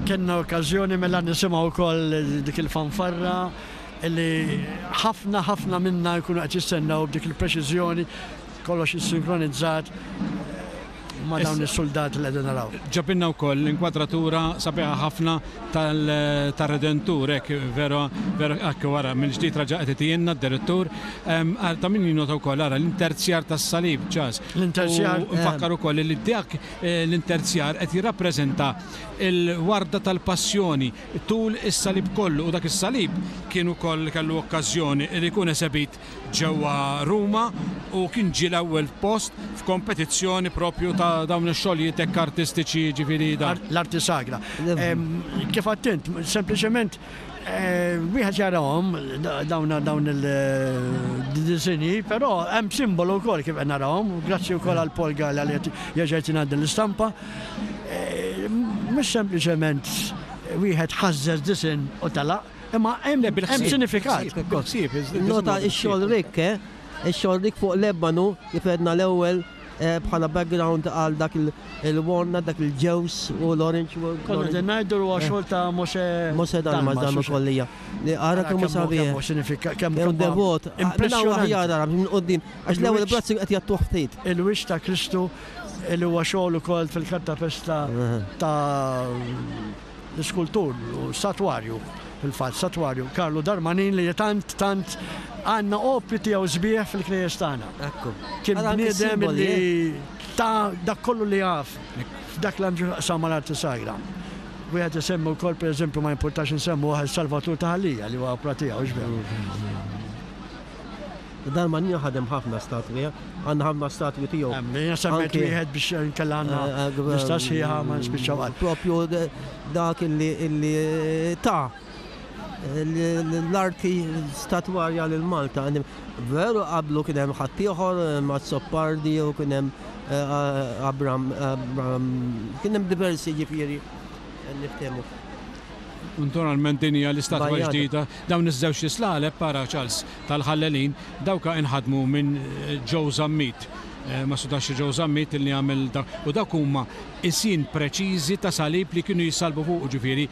Kenna okkażjoni mela nisimgħu wkoll dik il-fanfarra li ħafna ħafna minna jkunu qed jistennew b'dik il-preċiżjoni kollox issinkronizzatt ma' dawn is-suldati li qegħdin naraw. Ġabilna wkoll l-inkwadratura sabiħa ħafna tar-Redentur, hekk vera, vera hekk wara mill-ġdid raġa' qed itijielna d-direttur. Ta' min jinnota wkoll ara l-interzjar tas-salib, Ċas. L-interzjar. U nfakkar ukoll li dak l-interzjar qed jirrappreżenta l-warda tal-passjoni tul is-salib kollu u dak is-salib kien ukoll kellu okkażjoni li jkun esebit ġewwa Ruma u kien ġie l-ewwel post f'kompetizzjoni propju ta' dawn ix-xogħlijiet hekk artistiċi jiġifieri da. L-arti sagra. Kif għedt int, sempliċement wieħed jarahom dawn dawn il-disinji, però hemm simbolu wkoll kif qed narahom, grazzi wkoll għal Paul Galea li qed jerġa' jtina din l-istampa. Mhux sempliċement wieħed ħażżeż disinn u telaq, Imma hemm sinifikat. Nota x-xogħol rikk, eh? Ix-xogħol rikk fuq l-ebanu, kif għedna l-ewwel eh, bħala background għal dak il-walnut, dak il-ġewż u l-orange. Konna qegħdin ngħidu huwa eh. xogħol ta' Mose. Mose Dalmas dan ukoll hija. Ara kemm hu sabiħ. Kemm sinifikat, kemm devot. Impressjonanti. Aħjar minn qudiem. Għax l-ewwel brazzi qed jagħtuh ftit. Il-wiċċ ta' Kristu li huwa xogħol ukoll fil-kartapesta ta' L-iskultur u statwarju, fil-fatt statwarju Karlu Darmanin li tant tant għandna opri tiegħu sbieħ fil-knejjes tagħna. Ekku. Kien Ara anki bniedem s-simboli, li eh? ta' dak kollu li jaf f'dak li għandu x'jaqsam mal-arti sagra. Wieħed isemmi wkoll pereżempju ma jimpurtax insemmuh is-Salvatur ta' Ħal Lija li huwa opra tiegħu x'veru. Darmanin ħadem ħafna statwi, eh? Għandna ħafna statwi tiegħu. Jiena semmejt wieħed biex inkella għandna eh, eh, lista sħiħa ma nispiċċaw qatt. Propju dak illi ta' l-arti statwarja lil Malta. Veru qablu kien hemm ħaddieħor Mazzopardi u kien hemm Abram, kien hemm diversi ġifieri niftehmu. Naturalment din hija l-istatwa ġdida. Dawn iż-żewġ islaleb para Charles tal-ħallelin dawka inħadmu minn Joe Zammit. Ma sudax Joe Zammit li għamel dak. U dawk huma qisien preċiżi ta' salib li kienu jissalbu fuqu, ġifieri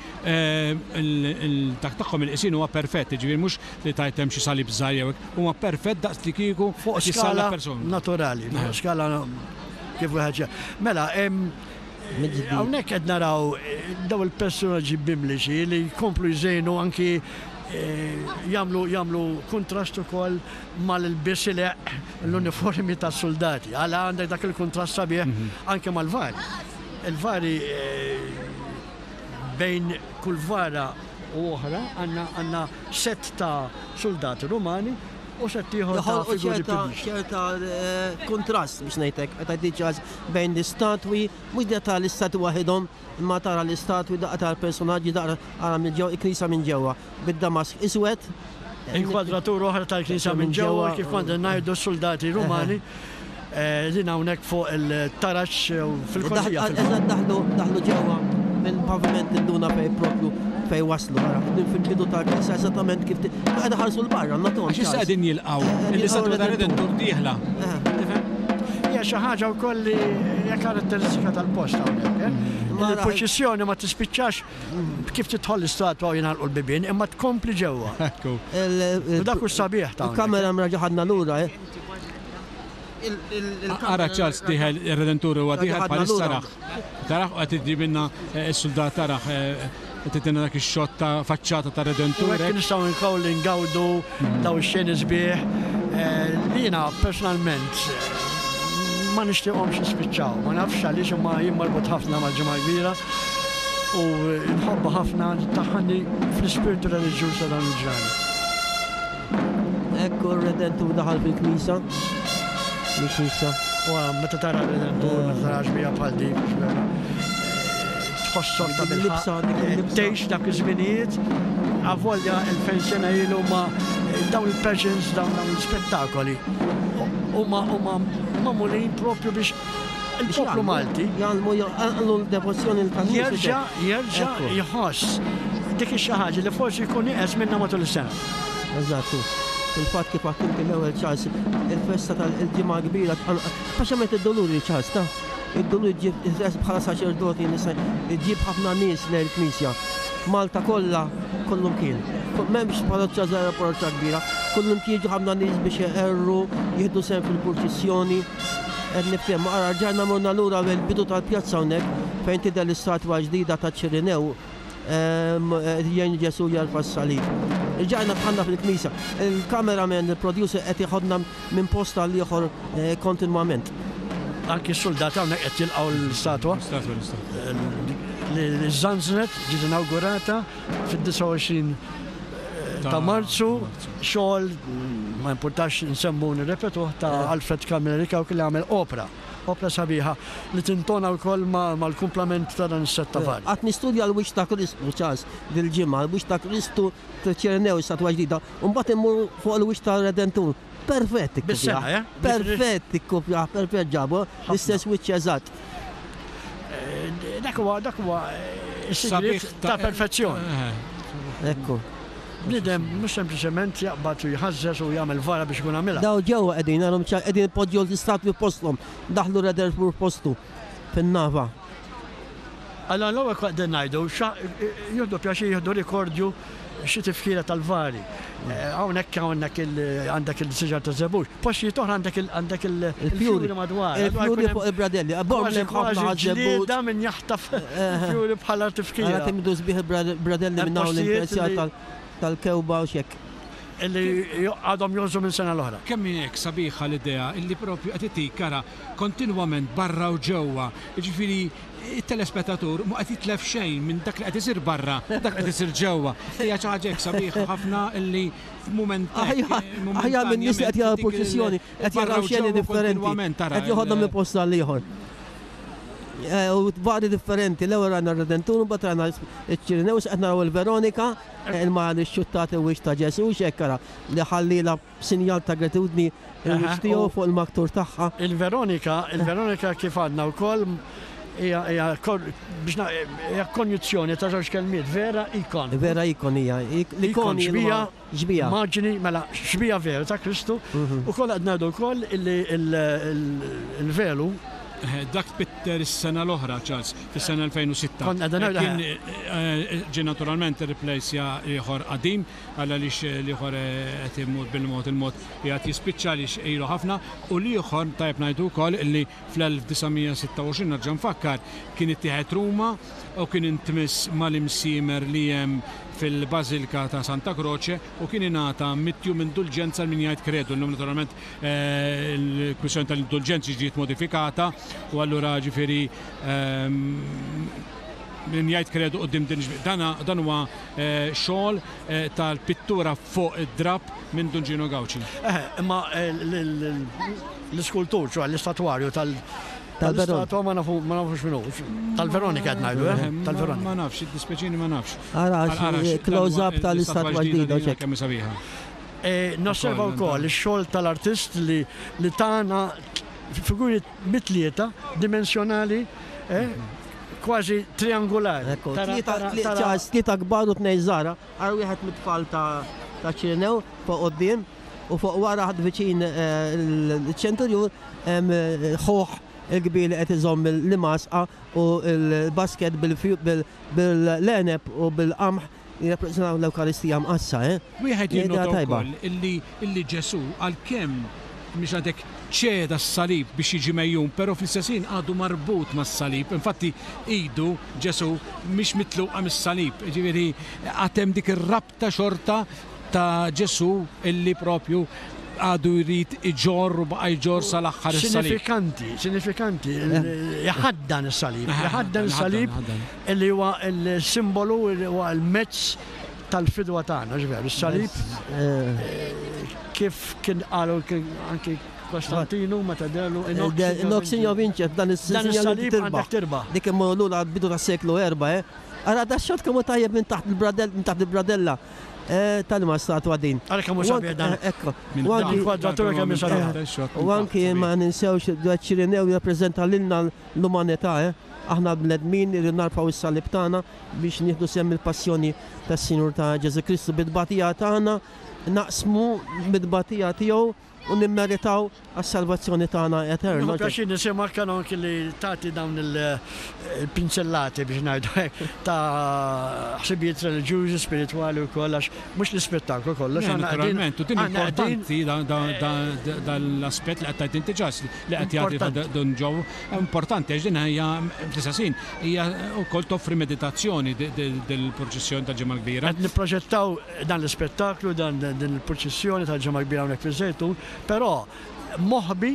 dak tagħhom il-qisien huwa perfett, ġifieri mhux li tgħid hemm xi salib żgħir jew hekk, huma perfett daqs li kieku Fuq skala naturali, fuq skala kif wieħed Mela, Hawnhekk qed naraw dawn il-personaġġi bibliċi li jkomplu jżejnu anki jagħmlu jagħmlu kuntrast ukoll mal-ilbies ileqq l-uniformi tas-suldati. Għala għandek dak il-kuntrast sabiħ anke mal-vari. Il-vari bejn kull vara u oħra għandna għandna sett ta' suldati Rumani u sett ieħor ta' figuri bibliċi. Ċerta kuntrast biex ngħidlek, meta tgħid bejn l-istatwi, mhux li tara l-istatwi waħidhom, imma tara l-istatwi, daqqa tara l-personaġġi, daqqa ara minn ġewwa, il-knisja minn ġewwa, bid-damask iswed. Inkwadratura oħra tal-knisja minn ġewwa kif konna ngħidu s-suldati Rumani din hawnhekk fuq il-taraġ fil-korsija. Eżatt daħlu daħlu ġewwa mill-paviment induna fejn propju fejn waslu ara qegħdin fil-bidu tal-knisja eżattament kif qed iħarsu 'l barra nagħtuhom. Għax issa qegħdin jilqgħu l-istatwa tar-Redentur dieħla. Tifhem? Hija xi ħaġa wkoll li hija karatteristika tal-post hawnhekk. Il-purċissjoni ma tispiċċax Kif tidħol l-istatwa u jingħalqu l-bibien, imma tkompli ġewwa. Ekku. U dak hu s-sabiħ ta' hawnhekk. Il-kamera mraġa' ħadna lura, eh. Ara Charles dieħel ir-Redentur huwa dieħel bħalissa rah. Tarah u qed iġibilna s-suldat tarah qed itina dak ix-xott ta' faċċata tar-Redentur. U hekk nistgħu nkoll ingawdu dawn ix-xeni sbieħ li jiena personalment ma nixtieqhomx jispiċċaw. Ma nafx għaliex imma jien marbut ħafna mal-Ġimgħa l-Kbira u nħobbha ħafna tdaħħalni fl-ispirtu reliġjuż ta' dawn il-ġranet. Ekku r-Redentur daħal fil-knisja. Fil-knisja. U meta tara r-Redentur, meta tara xbieha bħal dik, mhux vera. Tħossok ta' bilħaqq tgħix dak iż-żminijiet, avolja 2000 sena ilu ma dawn il-pageants, dawn l-ispettakoli huma huma magħmulin propju biex il-poplu Malti jgħallmu jgħallmu l-devozzjoni tal Jerġa' jerġa' jħoss dik ix-xi ħaġa li forsi jkun nieqes minnha matul is-sena. Eżatt. Fil-fatt kif għedt inti l-ewwel Charles, il-festa tal-Ġimgħa Kbira speċjalment id-Duluri Charles ta' Id-dulur iġġib bħala saċerdoti nista' iġġib ħafna nies lejn il-Knisja. Malta kollha kullumkien. M'hemmx parroċċa żgħira u parroċċa kbira, kullumkien jiġu ħafna nies biex iqerru, jieħdu sehem fil-purċissjoni. Qed niftehmu, ara rġajna morna lura mill-bidu tal-pjazza hawnhekk fejn tidher l-istatwa ġdida ta' Ċirinew. Jgħin Ġesù jerfa' s-salib. Rġajna dħalna fil-knisja. Il-cameraman, il-producer qed jeħodna minn post għal ieħor kontinwament. Anki s-suldati hawnhekk qed jilqgħu l-istatwa. Li żżanżnet, ġiet inawgurata fid-29 ta' Marzu, xogħol ma jimpurtax nsemmu u nirrepetuh ta' Alfred Camilleri Cauchi li għamel opra. Opra sabiħa li tintona wkoll mal-kumplament ta' dan is-sett ta' vari. Qgħadt nistudja l-wiċċ ta' Kristu, Charles, dil-ġimgħa, l-wiċċ ta' Kristu ċ-Ċirinew, statwa ġdida, u mbagħad immur fuq il-wiċċ tar-Redentur. Perfett ikkupjah. Bis-sengħa, eh? Perfett ikkupjah, perfett ġabu, l-istess wiċċ eżatt. Dak huwa dak huwa s-sigriet ta' perfezzjoni. Ekku. Bniedem mhux sempliċement jaqbad u jħażżeż u jagħmel vara biex ikun għamilha. Dawn ġewwa qegħdin, arahom ċar, qegħdin ipoġġu l-istatwi f'posthom, daħlu Redersburg f'postu, fin-nava. Allura l-ewwel kont qegħdin ngħidu, jieħdu pjaċir jieħdu rikordju xi tifkira tal-vari. Hawnhekk hawnhekk għandek il-siġar taż-żebbuġ. Postijiet oħra għandek għandek il-fjuri madwar. Il-fjuri fuq il-bradelli. Kważi kważi ġlieda min jaħtaf il-fjuri bħala tifkira. Ara kemm idu sbieħ il-bradelli minn hawn l-intressjar tal-kewba u x'hekk. Illi għadhom jgħożżu minn sena l-oħra. Kemm hi hekk sabiħa l-idea illi propju qed itik ara kontinwament barra u ġewwa. Jiġifieri it-telespettatur mhu qed jitlef xejn minn dak li qed isir barra, dak li qed isir ġewwa. Hija xi ħaġa hekk sabiħa ħafna illi f'mument Aħjar minn nies li qed jaraw purċissjoni, qed jaraw xeni differenti, qed joħodhom minn post għal ieħor. Eh, u vari differenti, l-ewwel rajna r-Redentur, mbagħad rajna ċ-Ċirinew, qed naraw il-Veronika, il-mara li xxuttat il-wiċċ ta' Ġesù, x'hekk ara li ħallila B'sinjal ta' gratitudni, il-wiċċ tiegħu fuq il-maktur tagħha. Il-Veronika, il-Veronika kif għadna wkoll hija hija biex hija konjuzzjoni ta' żewġ kelmiet, vera ikon. Vera ikon hija. L-ikon xbija, xbija. Immaġini, mela xbija vera ta' Kristu. Ukoll qed ngħidu wkoll illi il-velu Dak tpitter is-sena l-oħra, Charles, fis-sena 2006. Kont qed ngħidu. Kien ġie naturalment irriplejsja ieħor qadim. Għal għaliex l-ieħor qed imur bil-mod il-mod qiegħed jispiċċa għaliex ilu ħafna u l-ieħor tajjeb ngħidu wkoll li fl-1926 nerġa' nfakkar kien ittieħed Ruma u kien intmiss mal-imsiemer li hemm fil-Bażilka ta' Santa Croce u kien ingħata mittjum indulġenza għal min jgħid kredu. Illum naturalment il-kwistjoni tal-indulġenzi ġiet modifikata u allura ġifieri min jgħid kredu quddiem din dan huwa xogħol tal-pittura fuq id-drapp minn Dun Gino Gauci. Eħe, imma l-iskultur, ċoè l-istatwarju tal-istatwa ma nafux min hu. Tal-Veronika qed ngħidu, eh? Tal-Veronika. Ma nafx, jiddispjaċini ma nafx. Ara, close-up tal-istatwa ġdida. Kemm hi sabiħa. Nosserva wkoll ix-xogħol tal-artist li li tana figuri mitlieta dimensjonali kważi triangolari. Tlieta kbar u tnejn żgħar. Ara wieħed mit-tfal ta' Ċirinew fuq quddiem u fuq wara ħadd viċin il-ċenturjun hemm ħuh il-kbir li qed iżomm l-imgħasqa u l-basket bil-għeneb u bil-qamħ jirrappreżentaw l-Ewkaristija Mqaddsa, eh. Wieħed jinnota wkoll illi illi Ġesù għalkemm mhix ngħidlek ċeda s-salib biex jiġi megħjun, però fl-istess ħin għadu marbut mas-salib. Infatti idu, Ġesù, mhix mitluqa mis-salib. Jiġifieri għad hemm dik ir-rabta xorta ta' Ġesù illi propju għadu jrid iġorr u baqa' jġorr sal-aħħar is-salib. Sinifikanti, sinifikanti, iħaddan is-salib, iħaddan is-salib illi huwa l-simbolu, huwa l-mezz tal-fidwa tagħna, ġifieri is-salib kif kien qalu anki Kostantinu meta dehlu in hoc signo vinces, dan is-salib għandek tirbaħ. Dik immorru lura għall-bidu tas-seklu erbgħa, eh. Ara da xot kemm hu tajjeb minn taħt il-bradell, minn taħt il-bradella. Eh, tal-ma statwa din. Ara kemm hu sabiħ dan. Eh, ekku. U anki kwadratura kemm hi sabiħa. U anki ma ninsewx Ċirinew jirrappreżenta lilna l-umanità, eh. Aħna bnedmin irridu narfgħu s-salib tagħna biex nieħdu sehem mill-passjoni tas-Sinjur ta' Ġesù Kristu. Bit-tbatija tagħna naqsmu mit-tbatija tiegħu u nimmeritaw għas-salvazzjoni tagħna eterna. Nieħu pjaċir nisimgħek Kanonk li tagħti dawn il-pinzellati biex ngħidu hekk ta' ħsibijiet reliġjużi, spiritwali wkoll għax mhux l-ispettaklu kollox. Naturalment, u din importanti dan l-aspett li qed tgħid inti ġas li qed jagħti Dun Joe, importanti għax din hija fl-istess ħin hija wkoll toffri meditazzjoni dil-purċissjoni tal-Ġimgħa l-Kbira. Qed nipproġettaw dan l-ispettaklu, dan din il-purċissjoni tal-Ġimgħa Kbira hawnhekk fiż-Żejtun, però moħbi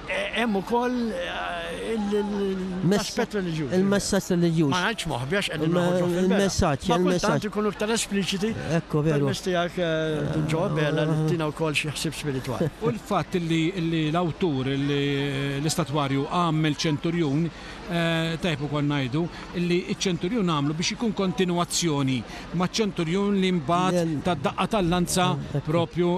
hemm ukoll l-aspett reliġjuż. Il-messaġġ reliġjuż. Ma ngħidx moħbi għax qegħdin noħorġu fil-beraħ. Il-messaġġ, Ma kultant ikunu iktar espliċiti. Ekku, veru. Permezz tiegħek Dun Joe Abela li tina wkoll xi ħsieb spiritwali. U l-fatt li l-awtur, l-istatwarju għamel ċenturjun, Tajjeb ukoll ngħidu li ċ-ċenturjun għamlu biex ikun kontinwazzjoni maċ-ċenturjun li mbagħad ta d-daqqa tal-lanza propju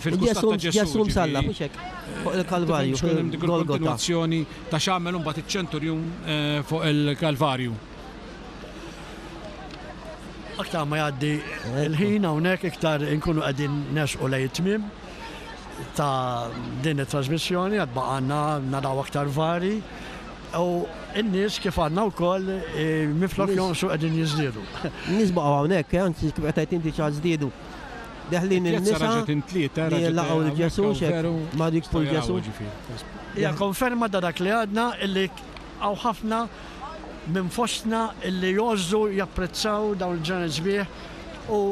fil-kustat ta' Ġesù. Ġesù msallab, mhux hekk? Fuq il-Kalvarju. Biex ikun hemm dik il-kontinwazzjoni ta' x'għamel imbagħad iċ-ċenturjun fuq il-Kalvarju. Aktar ma jgħaddi l-ħin hawnhekk iktar inkunu qegħdin nersqu lejn it-tmiem ta' din it-trasmissjoni għad baqgħalna naraw aktar vari u n-nies kif għandna wkoll minflok jonqsu qegħdin jiżdiedu. N-nies baqgħu hawnhekk, eh, anzi kif qed tgħid inti ċa żdiedu. Deħlin in-nisa li laqgħu lil Ġesù x'hekk ma jikfu 'l Ġesù. Hija konferma ta' dak li għadna illi hawn ħafna minn fostna illi jgħożżu japprezzaw dawn il-ġranet sbieħ u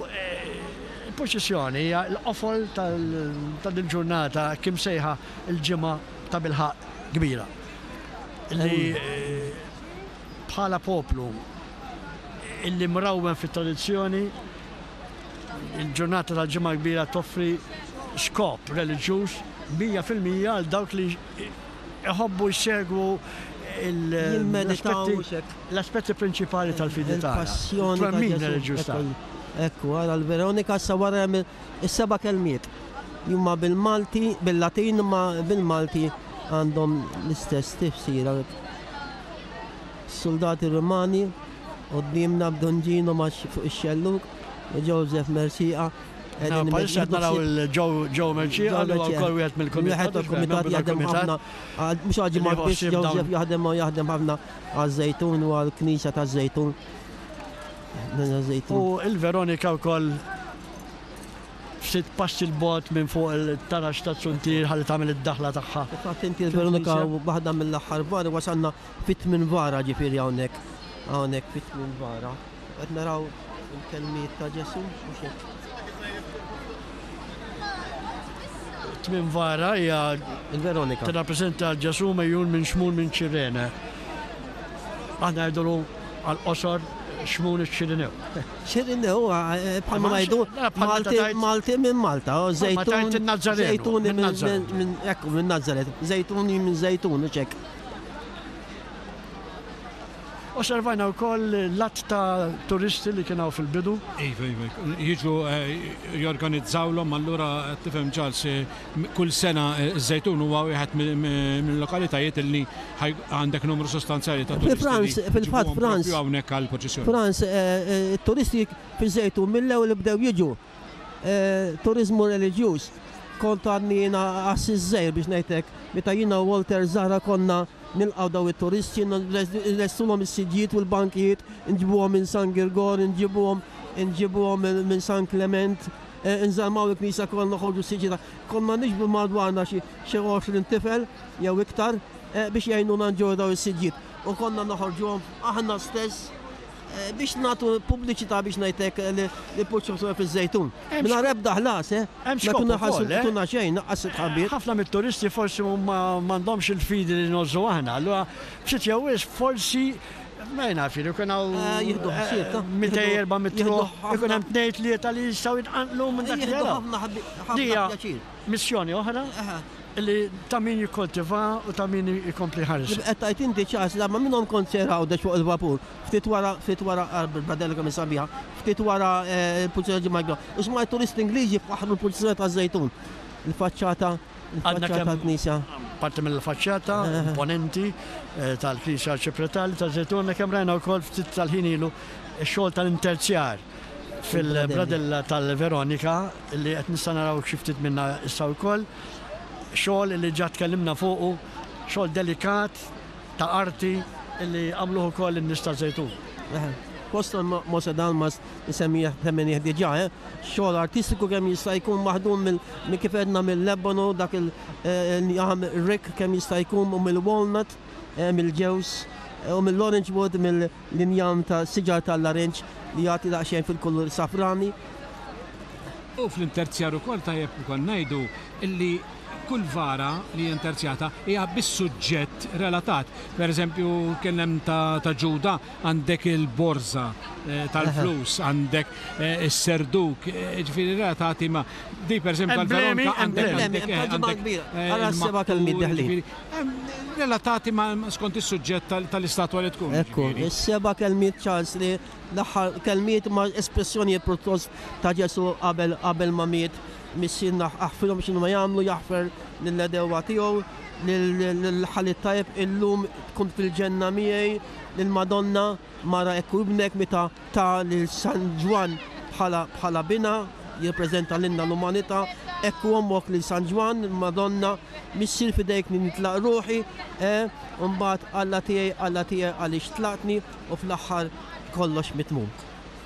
Il-purċissjoni hija l-qofol ta' din ġurnata hekk imsejħa l-Ġimgħa tabilħaqq Kbira. Li bħala poplu illi mrawwem fit-tradizzjoni, il-ġurnata tal-Ġimgħa Kbira toffri skop reliġjuż 100% għal dawk li iħobbu jsegwu l-aspetti prinċipali tal-fidi tagħna. Il-passjoni Twemmin reliġjuż tagħna. Ekku, ara l-Veronika issa wara hemm is-seba' kelmiet. Huma bil-Malti, bil-Latin imma bil-Malti għandhom l-istess tifsira. Soldati Rumani quddiemna b'Dun Gino ma' fuq ix-xellug u Joseph Mercieca Palissa qed naraw il-Joe Mercieca li huwa wkoll wieħed mill-kumitat. Wieħed mill-kumitat jaħdem ħafna mhux għal ġimgħa biss Joseph jaħdem jaħdem ħafna għaż-Żejtun u għall-Knisja taż-Żejtun. U il-Veronika wkoll ftit passi 'l bogħod minn fuq il-taraġ taz-zuntier ħalli tagħmel id-daħla tagħha. Fil-fatt inti l-Veronika waħda mill-aħħar vari wasalna fit-tmien vara ġifieri hawnhekk. Hawnhekk fit-tmien vara. Qed naraw il-kelmiet ta' Ġesù mhux hekk. Tmien vara hija il-Veronika. Tirrappreżenta l Ġesù mejjun minn Xmun minn Ċirene. Aħna ngħidulu għall-qosor Xmun iċ-Ċirinew. Ċirinew eh, bħalma ngħidu Malti Malti minn Malta, oh, Żejtun Żejtuni minn ekku minn Nazaret, Żejtuni minn Żejtun u ċek. Osservajna wkoll l-għadd ta' turisti li kien hawn fil-bidu. Iva, iva, jiġu jorganizzawlhom allura tifhem Charles, kull sena ż-Żejtun huwa wieħed mill-lokalitajiet li għandek numru sostanzjali ta' turisti. Fil-fatt Franz. Hawnhekk għall-purċissjoni. Franz, it-turisti fiż-Żejtun mill-ewwel bdew jiġu. Turiżmu reliġjuż. Kont għadni jiena qassis żgħir biex ngħid hekk, meta jiena u Walter Zahra konna nilqgħu dawn it-turisti, nlestulhom is-siġġijiet u l-bankijiet, nġibuhom minn San Girgor, nġibuhom nġibuhom minn San Klement, nżarmaw il-knisja kollha noħorġu s-siġġijiet. Konna niġbru madwarna xi 20 tifel jew iktar biex jgħinuna nġorru dawn is-siġġijiet u konna noħorġuhom aħna stess biex nagħtu pubbliċità biex ngħid hekk li purċissjoni fiż-Żejtun. Mingħajr ebda ħlas, eh? Hemm skop ukoll, eh? Tuna xejn, naqqas it-tħabbir. Ħafna mit-turisti forsi m'għandhomx il-fidi li ngħożżu aħna, allura ftit jew wisq forsi ma naf jien ikun hawn jieħdu ħsieb ta' 200 400 ruħ, ikun hemm tnejn tlieta li jistgħu jitqanqlu minn dak li jaraw. Ħafna pjaċir. Missjoni oħra li ta' min jikkoltiva u ta' min ikompli jħares. Qed tgħid inti Charles, darba minnhom kont sejr Għawdex fuq il-vapur, ftit wara, ftit wara, bil-bradella kemm hi sabiħa, ftit wara l-pulizija ġimgħa kbira, u smajt turisti Ingliżi jfaħħru l-pulizija taż-Żejtun. Il-faċċata, il-faċċata tal-knisja. Parti mill-faċċata imponenti tal-Knisja Arċipretali taż-Żejtun, għandna kemm rajna wkoll ftit tal-ħin ilu x-xogħol tal-interzjar fil-bradella tal-Veronika li qed nista' naraw xi ftit minnha issa wkoll. Xogħol li ġa tkellimna fuqu, xogħol delikat ta' arti li għamluh ukoll in-nies taż-Żejtun. Fost Mose Dalmas insemmih semminih diġà, eh? Xogħol artistiku kemm jista' jkun maħdum mill kif għedna mill-ebonu, dak il-jam rik kemm jista' jkun u mill-walnut, mill-ġewż u mill-orange wood, mill-injam ta' siġar tal-larinġ li jagħti daqsxejn fil-kulur safrani. U fl-interzjar ukoll tajjeb ukoll ngħidu illi kull vara li hija interzjata hija bis-suġġett relatat. Per eżempju, kien hemm ta' ta' Ġuda għandek il-borża tal-flus, għandek is-serduk, jiġifieri relatati ma' di per eżempju tal-Veronika għandek għandek Ara s-seba' kelmiet deħlin. Relatati ma' skont is-suġġett tal-istatwa li tkun. Ekku, is-seba' kelmiet Charles li l-aħħar kelmiet ma' espressjonijiet pjuttost ta' Ġesù qabel qabel ma miet, Missierna aħfrilhom x'inhuma jagħmlu, jaħfer lill-għedewwa tiegħu, lill-ħalli t-tajjeb illum tkun fil-ġenna miegħi, lill-Madonna mara hekk hu ibnek meta ta lil San Ġwann bħala bħala binha, jirrappreżenta lilna l-umanità, hekk hu ommok lil San Ġwann, il-Madonna, Missier f'idejk nitlaq ruħi, eh, u mbagħad Alla tiegħi, Alla tiegħi għaliex tlaqtni, u fl-aħħar kollox mitmum.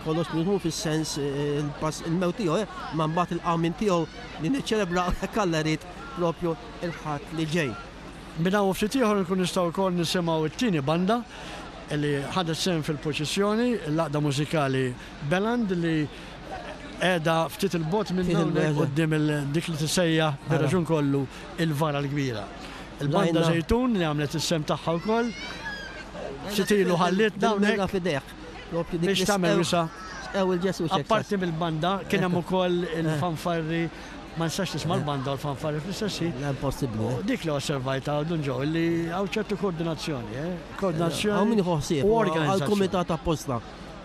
Kollox mitmum fis-sens il-pass il-mewt tiegħu, eh, ma mbagħad il-qawmien tiegħu li niċċelebraw jekk Alla jrid propju il-Ħadd li ġej. Minn hawn u ftit ieħor inkunu nistgħu wkoll nisimgħu t-tieni banda li ħadet sehem fil-purċissjoni, l-Għaqda Mużikali Beland li qiegħda ftit 'il bogħod minn hawnhekk quddiem dik li tissejjaħ bir-raġun kollu il-Vara l-Kbira. Il-Banda Żejtun li għamlet is-sehem tagħha wkoll ftit ilu ħallietna hawnhekk biex tagħmel wisa'. Apparti mill-banda kien hemm ukoll il-fanfarri Ma nistax nisma' l-banda u l-fanfarri fl-istess ħin. Le, impossibbli. U dik li osservajt hawn Dun Joe, li hawn ċertu koordinazzjoni, eh? Koordinazzjoni. Hawn min jieħu ħsieb. U organizzazzjoni. Għall-kumitat apposta.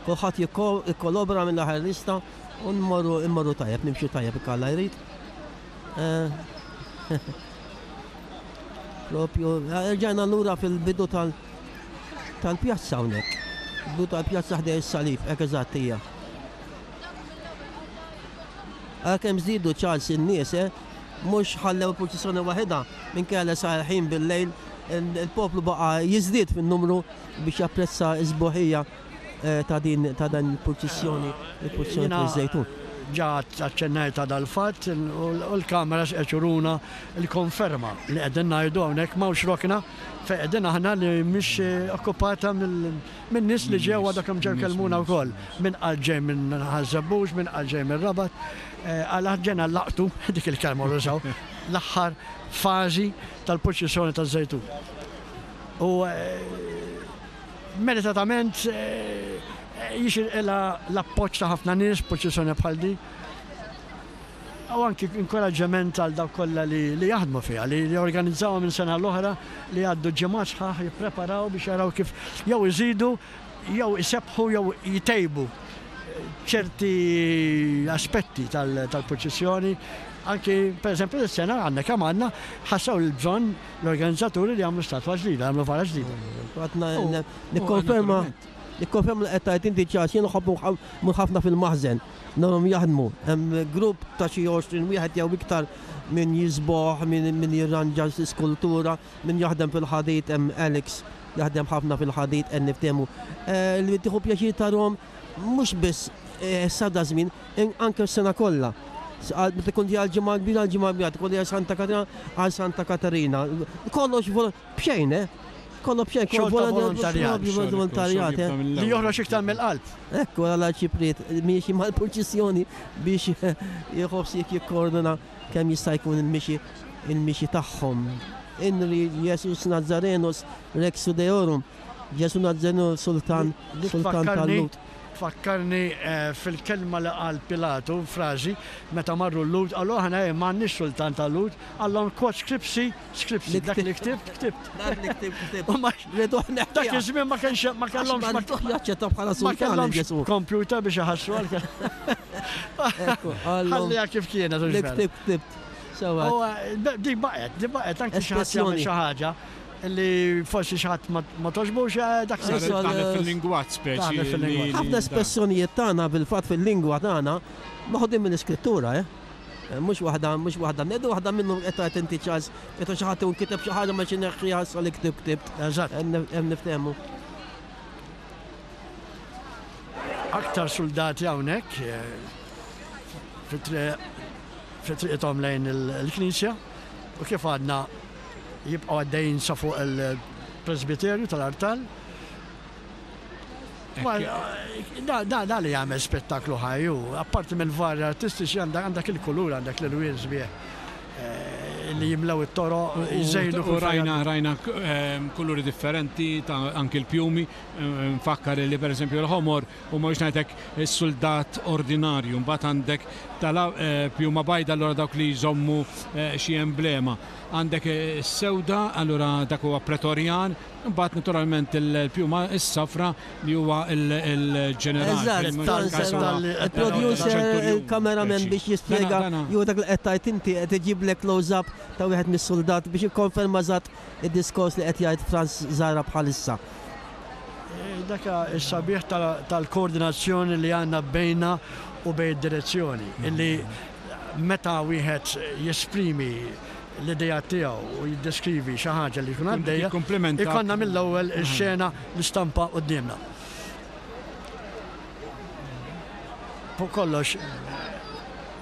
Kulħadd jikkolobra mill-aħħar lista u nmorru immorru tajjeb, nimxu tajjeb jekk Alla jrid. Eh, propju, rġajna lura fil-bidu tal tal-pjazza hawnhekk. Bidu tal-pjazza ħdej is-salib, hekk eżatt hija. Ara kemm żdiedu Charles in-nies, eh? Mhux ħallew il-purċissjoni waħidha, minkejja li sar il-ħin bil-lejl, il-poplu baqa' jiżdied fin-numru biex japprezza s-sbuħija ta' din ta' dan il-purċissjoni, il-purċissjoni fiż-Żejtun. Ġa aċċennajt għal dal-fatt u l-kameras qed juruna l-konferma li qegħdin ngħidu hawnhekk m'hawnx rokna fejn qegħdin aħna li mhix okkupata mill Minn nies li ġew għadha kemm ġew kellmuna wkoll. Min qal ġej minn Ħaż-Żebbuġ, min qal ġej mir-Rabat. Qal aħna ġejna nlaqqtu, dik il-kelma li użaw, l-aħħar fażi tal-purċissjoni taż-Żejtun. U meritatament jixirqilha l-appoġġ ta' ħafna nies purċissjoni bħal din. U anki inkoraġġament għal dawk kollha li jaħdmu fiha, li jorganizzawha minn sena l-oħra, li jgħaddu ġimgħat sħaħ jippreparaw biex jaraw kif jew iżidu jew isebbħu jew jtejbu ċerti aspetti tal-purċissjoni. Anki, per eżempju, dis-sena għandna kemm għandna ħassew il-bżonn l-organizzaturi li jagħmlu statwa ġdida, jagħmlu vara ġdida. Nikkonferma nikkonferma li qed tgħid inti Charles, jien nħobb mmur ħafna fil-maħżen, narhom jaħdmu. Hemm grupp ta' xi 20 wieħed jew iktar min jiżboħ, min jirranġa l-iskultura, min jaħdem fil-ħadid, hemm Alex jaħdem ħafna fil-ħadid qed niftehmu. Li tieħu pjaċir tarhom mhux biss issa da żmien, anke s-sena kollha. Meta tkun ġej għall-Ġimgħa l-Kbira għall-Ġimgħa l-Kbira, tkun ġej Santa Katarina għal Santa Katarina. Kollox b'xejn, eh? Kollox b'xejn, kollox volontarjat. Volontarjat, eh? Li joħroġ iktar mill-qalb. Ekku għala ċipriet miexi mal-purċissjoni biex jħossik jikkordina kemm jista' jkun il-mixi il-mixi tagħhom. Inri Jesus Nazarenus Rex Judeorum. Ġesù Nazzarenu sultan, sultan tal-Lhud. Tfakkarni fil-kelma li qal Pilatu, frażi, meta marru l-Lhud, qalu aħna m'għandniex sultan tal-Lhud, qallhom quod scripsi, scripsi, dak li ktibt, ktibt. Dak li ktibt, ktibt. Dak iż-żmien ma kienx ma kellhomx ma jaċċettaw bħala sultan Ġesù. Computer biex iħassru għal. Ħalliha kif kienet. Li ktibt, ktibt. Sewwa. Dik baqgħet, dik baqgħet anki xi ħadd jagħmel xi ħaġa li forsi xi ħadd ma togħġbux dak se jsir. Daħlet fil-lingwaġġ speċi. Ħafna espressjonijiet tagħna fil-fatt fil-lingwa tagħna meħudin mill-iskrittura, eh. Mhux waħda, mhux waħda, ngħidu waħda minnhom qed tgħid inti Charles, meta xi ħadd ikun kiteb xi ħaġa ma xi neħħiha issa li ktibt ktibt. Eżatt. Hemm niftehmu. Aktar suldati hawnhekk fit-triq fi triqithom lejn il-knisja u kif għadna jibqgħu għaddejjin sa fuq il-presbiterju tal-artal. Da li jagħmel spettaklu ħaj hu, apparti mill-varji artistiċi għandek il-kulur, għandek l-ilwien sbieħ eh, li jimlew it-toroq, jżejnu. U rajna rajna ehm, kuluri differenti ta' anki l-pjumi, ehm, nfakkar li pereżempju l-ħomor u mhux ngħidlek is-suldat ordinarju, mbagħad għandek tal eh, pjuma bajda allura dawk li jżommu eh, xi emblema. Għandek is-sewda, allura dak huwa pretorjan, imbagħad naturalment il-pjuma s-safra li huwa l-ġeneral. Eżatt, il-producer, il-cameraman biex jispjega jew dak li qed tgħid inti qed iġiblek close-up ta' wieħed mis-suldat biex jikkonferma eżatt id-diskors li qed jgħid Frans Zahra bħalissa. Dak is-sabiħ tal-koordinazzjoni li għandna bejna u bejn id-direzzjoni, illi meta wieħed jesprimi l-ideat tiegħu u jiddeskrivi xi ħaġa li jkun għaddejja, ikollna mill-ewwel ix-xena l-istampa quddiemna. Fuq kollox,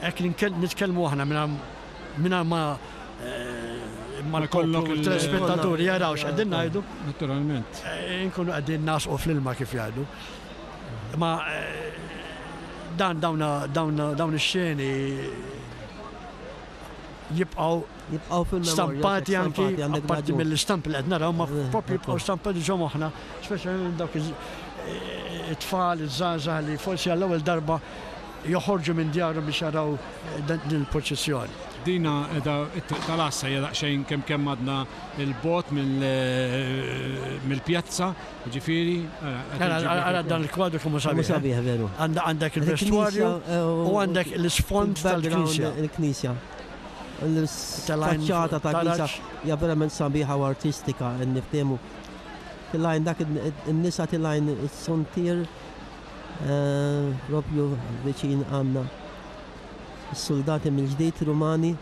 hekk nitkellmu aħna mingħajr ma eh, ma jkollok il-telespettaturi jaraw x'qegħdin ngħidu. Naturalment. Eh, inkunu qegħdin nasqu fl-ilma kif jgħidu. Ma eh, dan dawn dawn dawn ix-xeni jibqgħu jibqgħu fil-memorja stampati anki apparti mill-istampi li qed naraw ma eh, propju jibqgħu stampati ġo moħħna, speċjalment dawk it-tfal, iż-żgħażagħ li forsi għall-ewwel darba joħorġu minn djarhom biex jaraw eh, din il-proċessjoni. Dina edha it-triq tal-għassa hija daqsxejn kemm kemm għadna il-bot eh, mill-pjazza Ġifieri, ara dan il-kwadru kemm hu sabiħ. Sabiħ veru. Għandek il-vestwarju eh, u għandek l-isfond tal-knisja. Il-knisja. L-faċċata tal-knisja hija verament sabiħa u artistika niftehmu. Tilajn dak in-nisa tilajn is-sontier eh, propju viċin għandna. Is-soldati mill-ġdid Rumani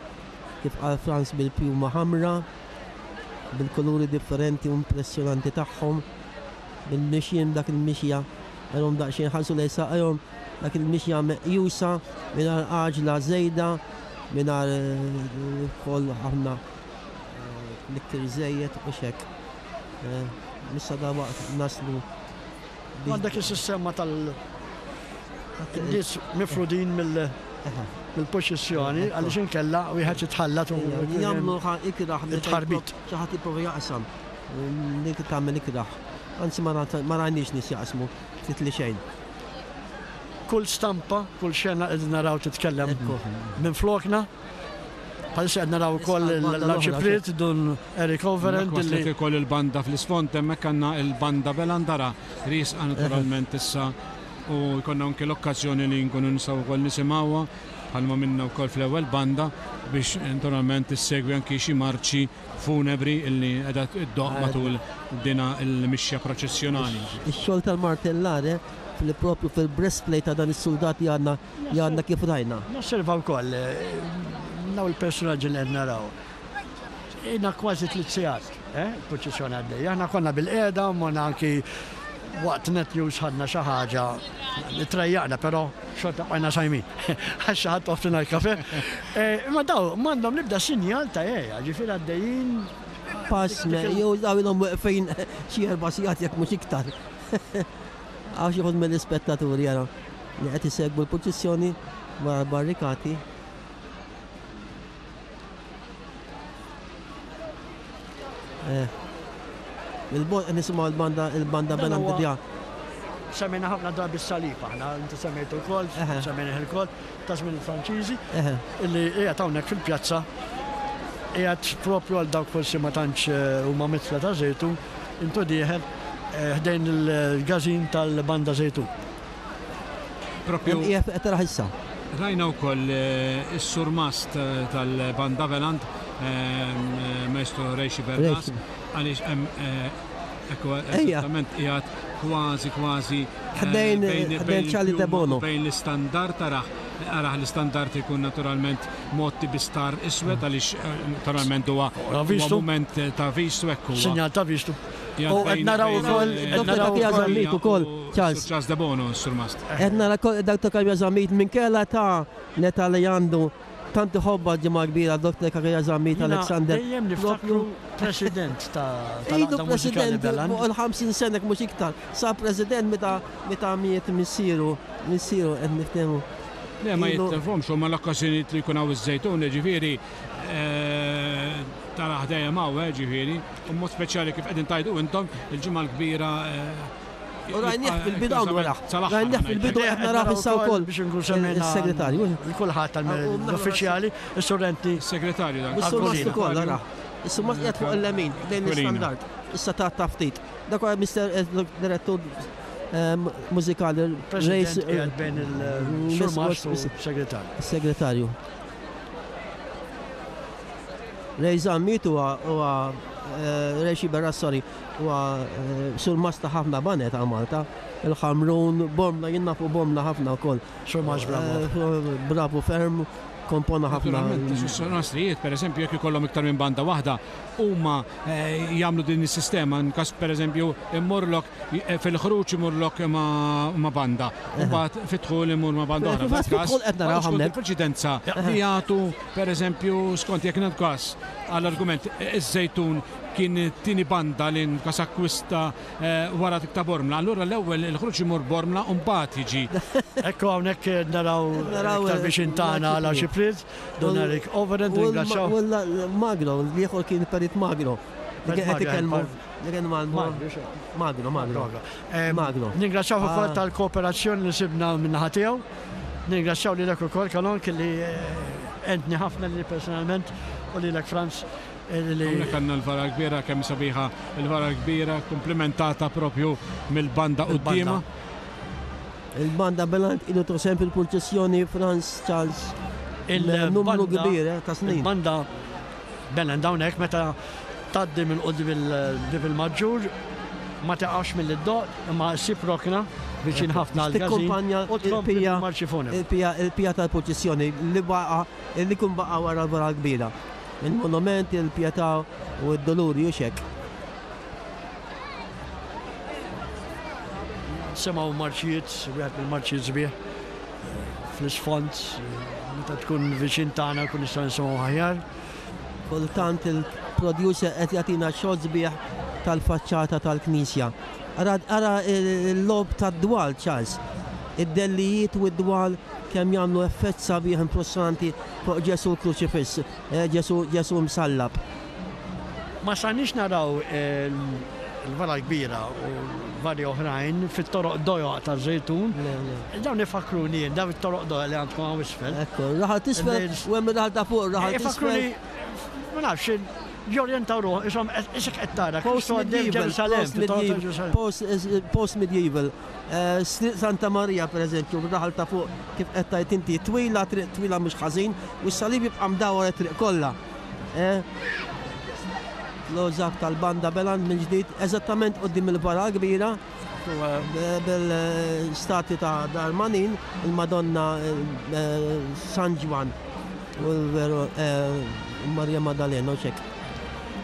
kif qal Franz bil-pjuma ħamra. bil-kuluri differenti u impressjonanti tagħhom, bil-mixjien dak il-mixja, għalhom daqsxejn ħarsu lejn saqajhom, dak il-mixja meqjusa mingħajr għaġla żejda, mingħajr ukoll ħafna tniktir żejjed u x'hekk. Issa dalwaqt naslu. Għandek is-sistema tal- nies mifrudin mill- mill-poċissjoni għaliex inkella wieħed jitħallat u jagħmlu ikrah tħarbit. Xi ħadd jipprova jaqsam. Dik tagħmel ikrah. Anzi ma rajniex nies jaqsmu ftit li xejn. Kull stampa, kull xena qegħdin naraw titkellem minn flokna. Bħalissa qed naraw ukoll l-Arċipriet Dun Eric Overend. Waslet ukoll il-banda fl-isfond hemmhekk għandna il-banda Belandara riesqa naturalment issa u jkollna anke l-okkażjoni li nkunu nistgħu wkoll nisimgħuha bħalma minna wkoll fl-ewwel banda biex naturalment issegwi anki xi marċi funebri illi qiegħda ddoqq matul dina l-mixja proċessjonali. Ix-xogħol tal-martellare fil-propju fil-breastplate ta' dan is-suldat li għadna li għadna kif rajna. Nosserva wkoll dawn il-personaġġi li qed naraw. Ilna kważi tliet sigħat, eh, il-purċissjoni għaddejja. Aħna konna bilqiegħda u morna anki waqt Net News ħadna xi ħaġa, trejjaqna però xorta bqajna sajmin. Għax xi ħadd offrina l-kafe. Eh, imma daw m'għandhom l-ebda sinjal ta' għeja, ġifieri għaddejjin Pass, jew daw ilhom weqfin xi erba' sigħat jekk mhux iktar. Hawn xi wħud mill-ispettaturi ara li qed isegwu l-purċissjoni wara l-barrikati. Eh. Il-bot nisimgħu l-banda il-banda Bella Ndibja. Semmejna ħafna drabi s-salib aħna, inti semmejtu wkoll, semmejna ukoll ta' żmien il-Franċiżi, illi qiegħed hawnhekk fil-pjazza qiegħed propju għal dawk forsi ma tantx eh, huma mitla ta' żejtun, intu dieħel eh, ħdejn il-gażin tal-banda żejtun. Propju. Qiegħed qed taraħ issa. Rajna wkoll eh, is-surmast eh, tal-Banda Velant, eh, Maestro Rejxi Bernas, għaliex hemm ekku eżattament qiegħed kważi kważi ħdejn ħdejn Charlie Debono. Bejn l-istandard taraħ araħ l-istandard ikun naturalment motti bi star iswed għaliex naturalment huwa mument ta' vistu ekku. Sinjal ta' vistu. U qed naraw ukoll qed naraw ukoll ukoll Charles. Charles Debono s-surmast. Qed nara Dr. Cachia Zammit minkella ta' l-età li għandu tant iħobbha l-Ġimgħa Kbira Dr. Cachia Zammit Alexander. Dejjem niftakru president ta' Ilu president fuq il-50 sena jekk mhux iktar. Sar president meta meta miet missieru, missieru qed niftehmu. Le ma jitlefhomx huma l-okkażjonijiet li jkun hawn iż-Żejtun, jiġifieri taraħ dejjem hawn, ġifieri. U mod speċjali kif qegħdin tgħidu intom, il-Ġimgħa l-Kbira. U rajnieh fil-bidu hawn wara. Rajnieh fil-bidu qed narah issa wkoll. Biex inkun semmejna. Is-segretarju. Kulħadd tal-uffiċjali, is-surrenti. Segretarju dan. Is-surmast ukoll ara. Is-surmast qiegħed fuq il-lemin, lejn l-istandard. Issa ta' ftit. Dak huwa Mister Direttur Mużikali. President qiegħed bejn il-surmast u segretarju. Segretarju. Ray Zammit huwa huwa eh, Ray Sciberras sorry, huwa eh, surmast ta' ħafna baned ta' Malta. Il-Ħamrun, Bormla, jien nafu Bormla ħafna wkoll. Surmast bravo. Eh, bravo ferm, kompona ħafna. Naturalment, surmastrijiet, per eżempju, jekk ikollhom iktar minn banda waħda, huma jagħmlu din is-sistema, nkas per eżempju immurlok fil-ħruġ imurlok ma' banda, u mbagħad fid-dħul imur ma' banda oħra. Fid-dħul qed naraw hawnhekk. Il-preċedenza li jagħtu pereżempju skont jekk nagħtu każ għall-argument iż-Żejtun kien it-tieni banda li nkas akkwista wara dik ta' Bormla, allura l-ewwel il-ħruġ imur Bormla u mbagħad jiġi. Ekku hawnhekk naraw iktar viċin tagħna l-Arċipriet. Don Eric Overend, ringrazzjaw. U Magro, l-ieħor kien Perit Magro. Li kien qed ikellmu. Li kien Magro, Magro. Magro. Ningrazzjaw ukoll ah. tal-kooperazzjoni li sibna min-naħa tiegħu. Ningrazzjaw lilek ukoll Kalon kelli eh, entni ħafna li personalment u lilek Franz. Eh, Hawnhekk għandna l-vara kbira kemm sabiħa il-vara kbira komplementata propju mill-banda quddiema. Il-banda Belant ilu tosem fil-purċissjoni Franz Charles il-numru kbir eh, ta' snin. Il-banda Belant hawnhekk meta tgħaddi minn quddiem il-Bib il-Maġġur ma tiqafx milli ddoqq imma ssib rokna viċin ħafna għall-każin u tkompli bil-marċi funebri. Il-pija tal-purċissjoni li baqa' li jkun baqa' wara l-vara l-kbira. Il-monument, il-pjetà u d-duluri hux hekk. Semgħu marċijiet, wieħed mill-marċijiet sbieħ fl-isfond, meta tkun viċin tagħna kun nistgħu nisimgħu aħjar. Kultant il-producer qed jagħtina xogħol sbieħ tal-faċċata tal-knisja. Ara ara l-logħob tad-dwal Charles. Id-dellijiet u d-dwal kemm jagħmlu effett sabiħ impressjonanti fuq Ġesù kruċifiss, eh, Ġesù Ġesù msallab. Ma stajniex naraw. il-vara kbira u vari oħrajn fit-toroq dojoq ta' Żejtun. Dawn ifakruni jien, dawn it-toroq dojoq li għandkom hawn isfel. Ekku, raħal tisfel u hemm raħal ta' fuq, raħal tisfel. Ma nafx, jorjentaw ruħ, isom isek qed tara Kristu għaddej Ġerusalemm, Post medieval. Triq Santa Marija pereżempju, raħal ta' fuq kif qed tgħid inti, twila, triq twila mhux ħażin, u s-salib jibqa' mdawwar it-triq kollha. L-għożak tal-banda Beland mill-ġdid, eżattament quddiem il-vara kbira, bil-statwi ta' Darmanin, il-Madonna San Ġwann u Marija Maddalena u x'hekk.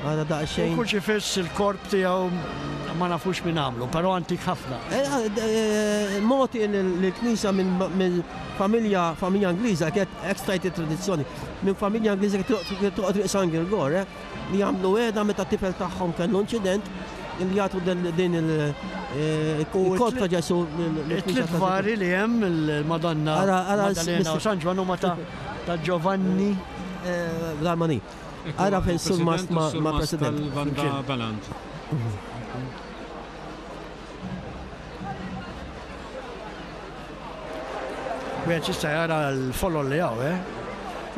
Ara daqsxejn. U kurċifiss il-korp tiegħu ma nafux min għamlu, però antik ħafna. Mogħti lill-Knisja minn familja familja Ingliża, kienet hekk stajt it-tradizzjoni, minn familja Ingliża kienet toqgħod triq San Girgor, li għamlu wegħda meta t-tifel tagħhom kellu inċident li jagħtu din il-korp ta' Ġesù lill-Knisja. It-tliet vari li hemm il-Madonna, Maddalena u San Ġwann huma ta' Giovanni Darmanin. Ara fejn surmast ma' president. Tal-banda Baland. Wieħed jista' jara l-folol li hawn, eh?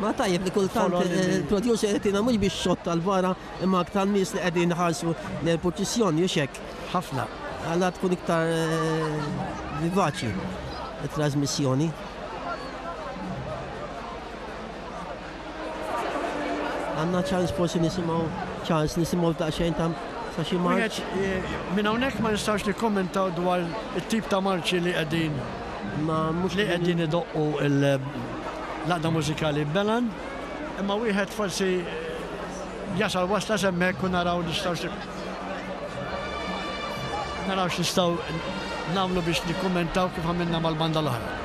Ma tajjeb li kultant il-producer qed mhux biex xott tal-vara imma aktar nies li qegħdin ħarsu l-purċissjoni u xek. Ħafna. Għalla tkun iktar vivaċi it-trasmissjoni. Għandna ċans forsi nisimgħu ċans nisimgħu daqsxejn ta' ta' xi marċ. Minn hawnhekk ma nistgħux nikkommentaw dwar it-tip ta' marċi li qegħdin ma mhux li qegħdin idoqqu l-għaqda mużikali Belan, imma wieħed forsi jasal wasla s'hemmhekk u naraw nistgħux naraw x'nistgħu nagħmlu biex nikkummentaw kif għamilna mal-banda l-oħra.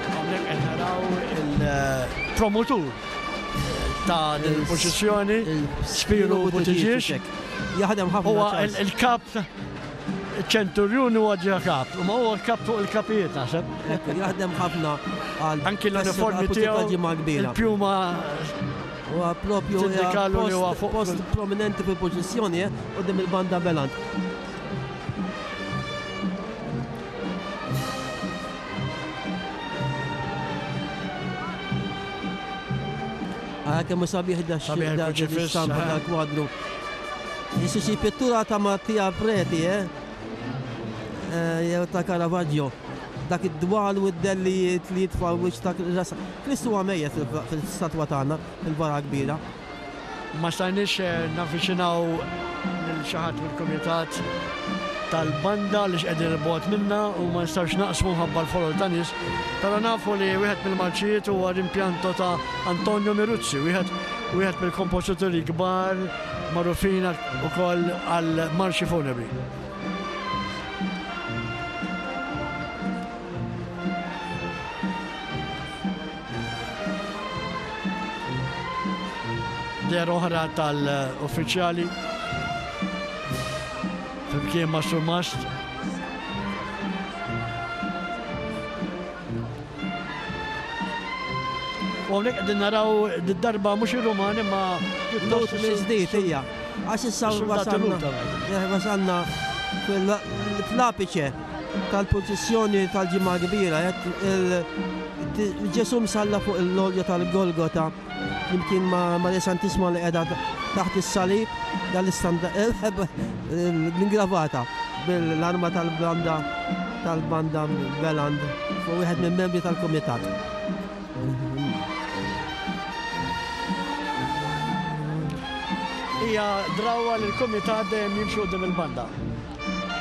Hawnhekk qed naraw il-promotur ta' din il-pożizzjoni, Spiru Buttigieg. Jaħdem ħafna. Huwa il-kap Ċenturjun huwa ġa kap, ma huwa kap fuq il-kapijiet naħseb. Jaħdem ħafna għal anki l-uniformi tiegħu il-pjuma huwa propju tindikalu li huwa fuq post prominenti fil-pożizzjoni eh, quddiem il-banda Belant. Ara kemm hu sabiħ da stampa eh. dal-kwadru. Jissu xi pittura ta' Mattia Preti, eh? eh jew ta' Caravaggio. Dak id-dwal u d-dellijiet li jitfa' wiċċ ta' rasa. Kristu huwa mejjet fil-statwa tagħna, fil-vara kbira. Ma stajniex eh, navviċinaw lil xi ħadd mill-kumitat tal-banda li x'qegħdin il-bogħod minna u ma nistgħux naqsmu mħabba l-folol ta' nies, però nafu li wieħed mill-marċijiet huwa rimpianto ta' Antonio Miruzzi, wieħed wieħed mill-kompożituri kbar magħrufin ukoll għal marċi funebri. Dehra oħra tal-uffiċjali flimkien ma' Surmast. U hawnhekk qegħdin naraw darba mhux ir-Rumani ma pjuttost mill-ġdid hija. Għax issa wasalna eh, wasalna fl-apiċe. tal-purċissjoni tal-Ġimgħa Kbira, Ġesù msalla fuq il-lolja tal-Golgota flimkien ma' Marija Santissima li qiegħda taħt is-salib dal-istanda l-ingravata bil-arma tal-banda tal-banda Beland fuq wieħed minn membri tal-kumitat. Hija drawwa li l-kumitat dejjem jimxi quddiem il-banda.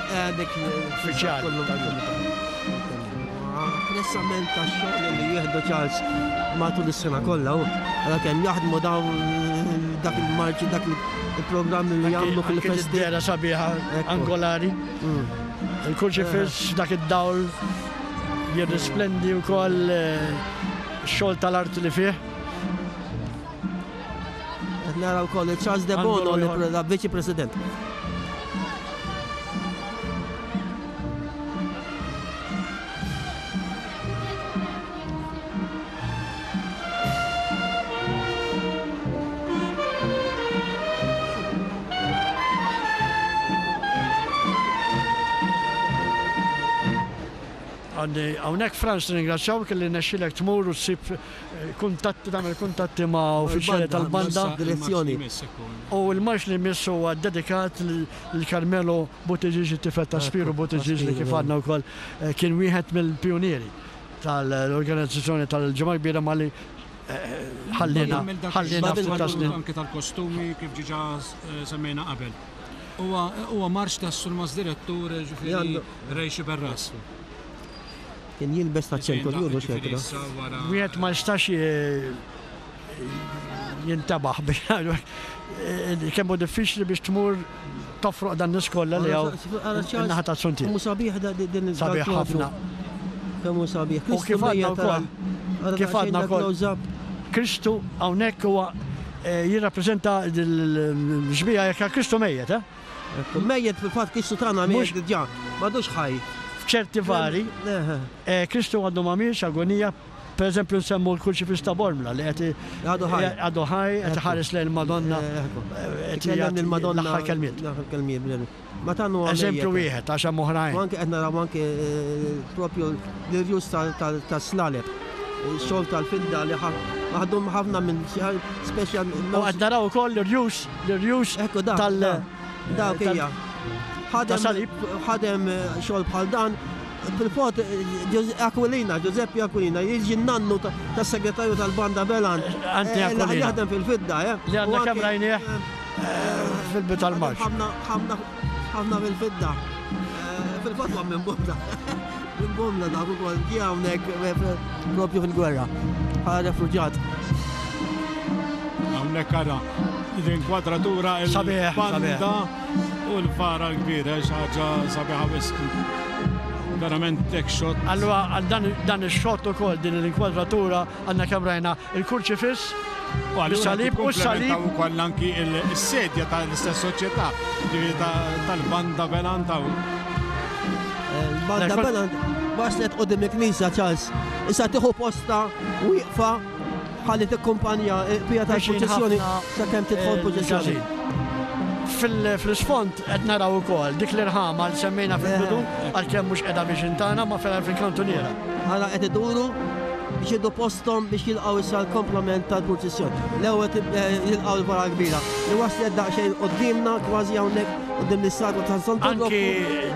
Eh, dik uffiċjali tal-kumitat. Apprezzament tax-xogħol li jieħdu Charles matul is-sena kollha u għala kemm jaħdmu dawn dak il-marċi dak il-programm li jagħmlu fil-festi. Dera sabiħa angolari. Mm. Il-kurċifiss dak id-dawl jirrisplendi wkoll eh, xogħol tal-art li fih. Qed nara wkoll Charles De Bono li viċi President. Għandi hawnhekk Frans nirringrazzjawk li nexxilek tmur u ssib eh, kuntatti tagħmel kuntatti ma' uffiċjali tal-banda. Direzzjoni. U l-marx li jmiss huwa dedikat lil Carmelo Buttigieg it-tifel ta' Spiru Buttigieg li kif għadna wkoll eh, kien wieħed mill-pionieri tal-organizzazzjoni tal-Ġimgħa Kbira malli eh, ħallina ħallina ftit ta' snin. Anke tal-kostumi kif ġiġa semmejna qabel. Huwa marx tas-Surmas Direttur ġifieri Ray Sciberras. Kien jilbes ta' ċenturjun u xekra. Wieħed ma jistax jintabaħ biex ngħidu kemm hu diffiċli biex tmur tofroq dan nies kollha li hawn in-naħa ta' Suntier. Kemm hu sabiħ din Sabiħ ħafna. Kemm hu sabiħ. U kif għadna wkoll. Kif għadna wkoll. Kristu hawnhekk huwa eh, jirrappreżenta l-xbieha jekk Kristu mejjet, eh? Mejjet fil-fatt Kristu tagħna mejjet diġà, m'għadux ħaj. F'ċerti vari, eh, Kristu għadu ma miex agonija, per eżempju nsemmu l-kurċifiss ta' Bormla li qed għadu ħaj, għadu ħaj qed iħares lejn il-Madonna. Eh, qed il-Madonna l-aħħar kelmiet. L-aħħar kelmiet. Ma tagħnu Eżempju wieħed għax hemm oħrajn. Anke qed naraw anke eh, propju l-irjus tas-slaleb. Xogħol tal-fidda li maħdum ħafna minn speċjal. U qed naraw ukoll l-irjus, l-irjus tal. Dak hija. Ħadem ħadem eh, xogħol bħal dan fil-fot eh, Aquilina, Giuseppe Aquilina, jiġi nannu tas-segretarju tal-Banda Belan. Anti eh, Aquilina. Jaħdem fil-fidda, eh. Li għandna kemm rajnieh fil-bidu tal-marċ. Ħafna ħafna fil-fidda. Fil-fatt huwa minn Bomla. Minn Bomla dak ukoll ġie hawnhekk eh, propju fil-gwerra bħala refuġjat. Hawnhekk ara l-inkwadratura il-banda u l-fara l-kbira xi ħaġa sabiħa wisq. Verament hekk xott. Allura għal dan ix-xott ukoll din l-inkwadratura għandna kemm rajna Il-kurċifiss, is-salib u s-salib. U ukoll anki s-sedja tal-istess soċjetà, ġifieri tal-banda Belanta. Il-banda Belant waslet qudiem il-knisja Charles. Issa tieħu posta wieqfa ħalli tikkumpanja il-qbija tal-purċissjoni sakemm tidħol purċissjoni. Fl-isfond qed naraw ukoll dik l-irħama li semmejna fil-bidu għalkemm mhux qiegħda viċin tagħna ma fil-kantuniera. Ara qed iduru biex jieħdu posthom biex jilqgħu issa l-komplament tal-purċissjon. L-ewwel eh, jilqgħu l-vara kbira li waslet daqsxejn quddiemna kważi hawnhekk quddiem l-istatwa ta' Santu Anki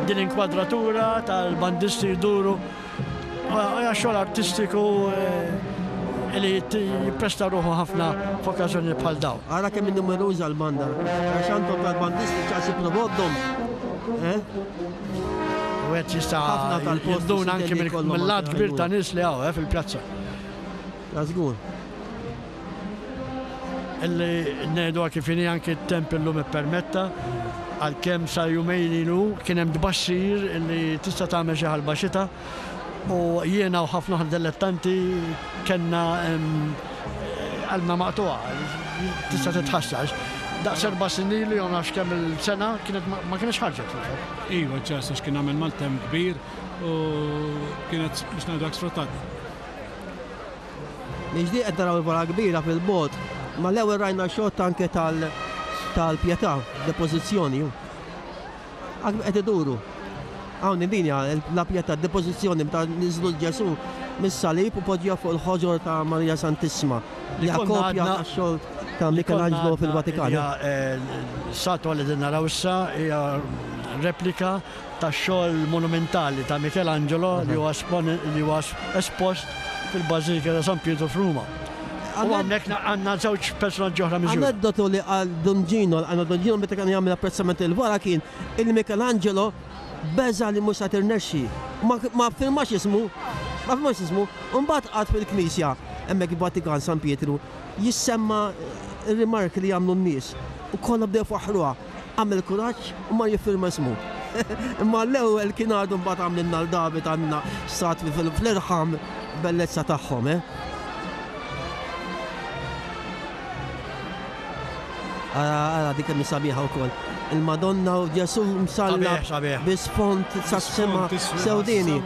din inkwadratura tal-bandisti jduru hija xogħol artistiku eh, li jippresta ruħu ħafna f'okkażjoni bħal dawn. Ara kemm numeruża l-banda. Għax għandhom tal-bandisti ċaqsi provodhom. Eh? U għed jista' jinduna anki mill-lat kbir ta' nies li hawn eh, fil-pjazza. Żgur. Illi ngħidu kif inhi anki t-temp illum ippermetta għalkemm sa jumejn ilu kien hemm tbassir illi tista' tagħmel xi ħalba xita u jiena u ħafna oħra dilettanti kellna qalbna maqtugħa, tista' titħassar. Daqs erba' snin ilu jew nafx kemm il-sena kienet ma kienx ħarġet fil-fatt. Iva, ċert għax kien għamel maltemp kbir u kienet biex ngħidu hekk sfruttat. Nixtieq qed naraw il-vara kbira fil-bogħod, ma l-ewwel rajna xott anke tal-pjetà, depożizzjoni. Qed iduru. Hawn din hija la Pietà, depożizzjoni meta niżlu l-Ġesù mis-salib u poġġew fuq il-ħoġor ta' Marija Santissima. Li hija kopja tax-xogħol ta' Michelangelo fil-Vatikan. Statwa li qegħdin naraw issa hija replika tax-xogħol monumentali ta' Michelangelo li huwa espost fil-Bażilika ta' San Pietru f'Ruma. U hawnhekk għandna żewġ personaġġi oħra miżjuda. Aneddotu li qal Dun Gino, għandna Dun Gino meta kien jagħmel apprezzament il-vara kien il Michelangelo beża' li mhux sa tirnexxi. Ma ffirmax ismu, ma ffirmax ismu, u mbagħad qagħad fil-knisja hemmhekk il-Vatikan San Pietru jissemma r-rimarki li jagħmlu n-nies u kollha bdew ifaħħruha. Għamel kuraġġ u mar jiffirma ismu. Imma l-ewwel kien għadu mbagħad għamlilna l David għandna statwi fl-irħam bellezza tagħhom, eh. Ara, ara, dik kemm sabiħa wkoll. Il-Madonna u Ġesu msallab bi sfond sas-sema sewdini.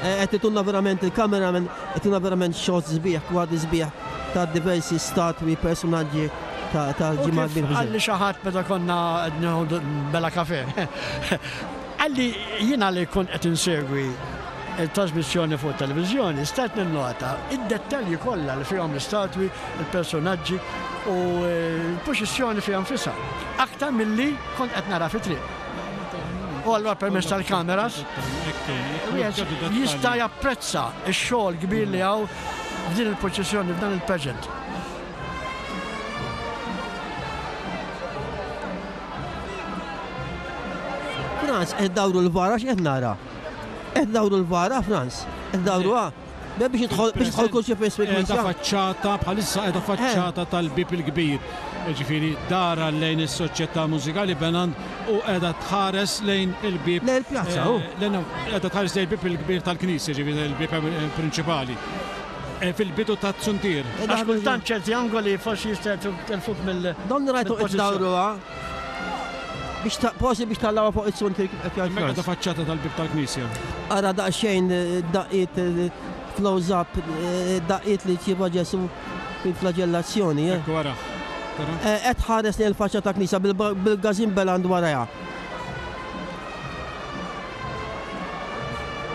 Eh, qed itunna verament il-cameraman, qed itunna verament shots sbieħ, kwadri sbieħ ta' diversi statwi, personaġġi ta' ġimgħa kbir. Qalli xi ħadd meta konna qed nieħdu bela kafe. Qalli jiena li kont qed insegwi il-trasmissjoni fuq it-televiżjoni stajt ninnota id-dettalji kollha li fihom l-istatwi, il-personaġġi u l-purċissjoni fiha nfisha, aktar milli kont qed nara fit-triq. U allura permezz tal-kameras wieħed jista' japprezza x-xogħol kbir li hawn f'din il-purċissjoni, f'dan il-pageant. Frans, qed dawru l-vara x'qed nara? Qed dawru l-vara, Frans? Qed dawruha? Biex jidħol biex jidħol kull xi fis fil-knisja. Faċċata bħalissa qiegħda faċċata tal-bieb il-kbir. Ġifieri dara lejn is-Soċjetà Mużikali Benand u qiegħda tħares lejn il-bieb. Lejn il-pjazza, hu. Qiegħda tħares lejn il-bieb il-kbir tal-knisja, ġifieri il-bieb prinċipali. Fil-bidu tat-suntier. Għax kultant ċerti angoli forsi jista' telfuk mill. Don rajtu qed dawruha. Biex ta' posi biex tallawha fuq it-suntier kif qed jgħid. Meta faċċata tal-bieb tal-knisja. Ara daqsxejn daqqiet close up daqqiet li ċieva Ġesu fil-flagellazzjoni. Ekku ara. Qed ħares lejn il-faċċata tal-knisja bil-gażin beland warajha.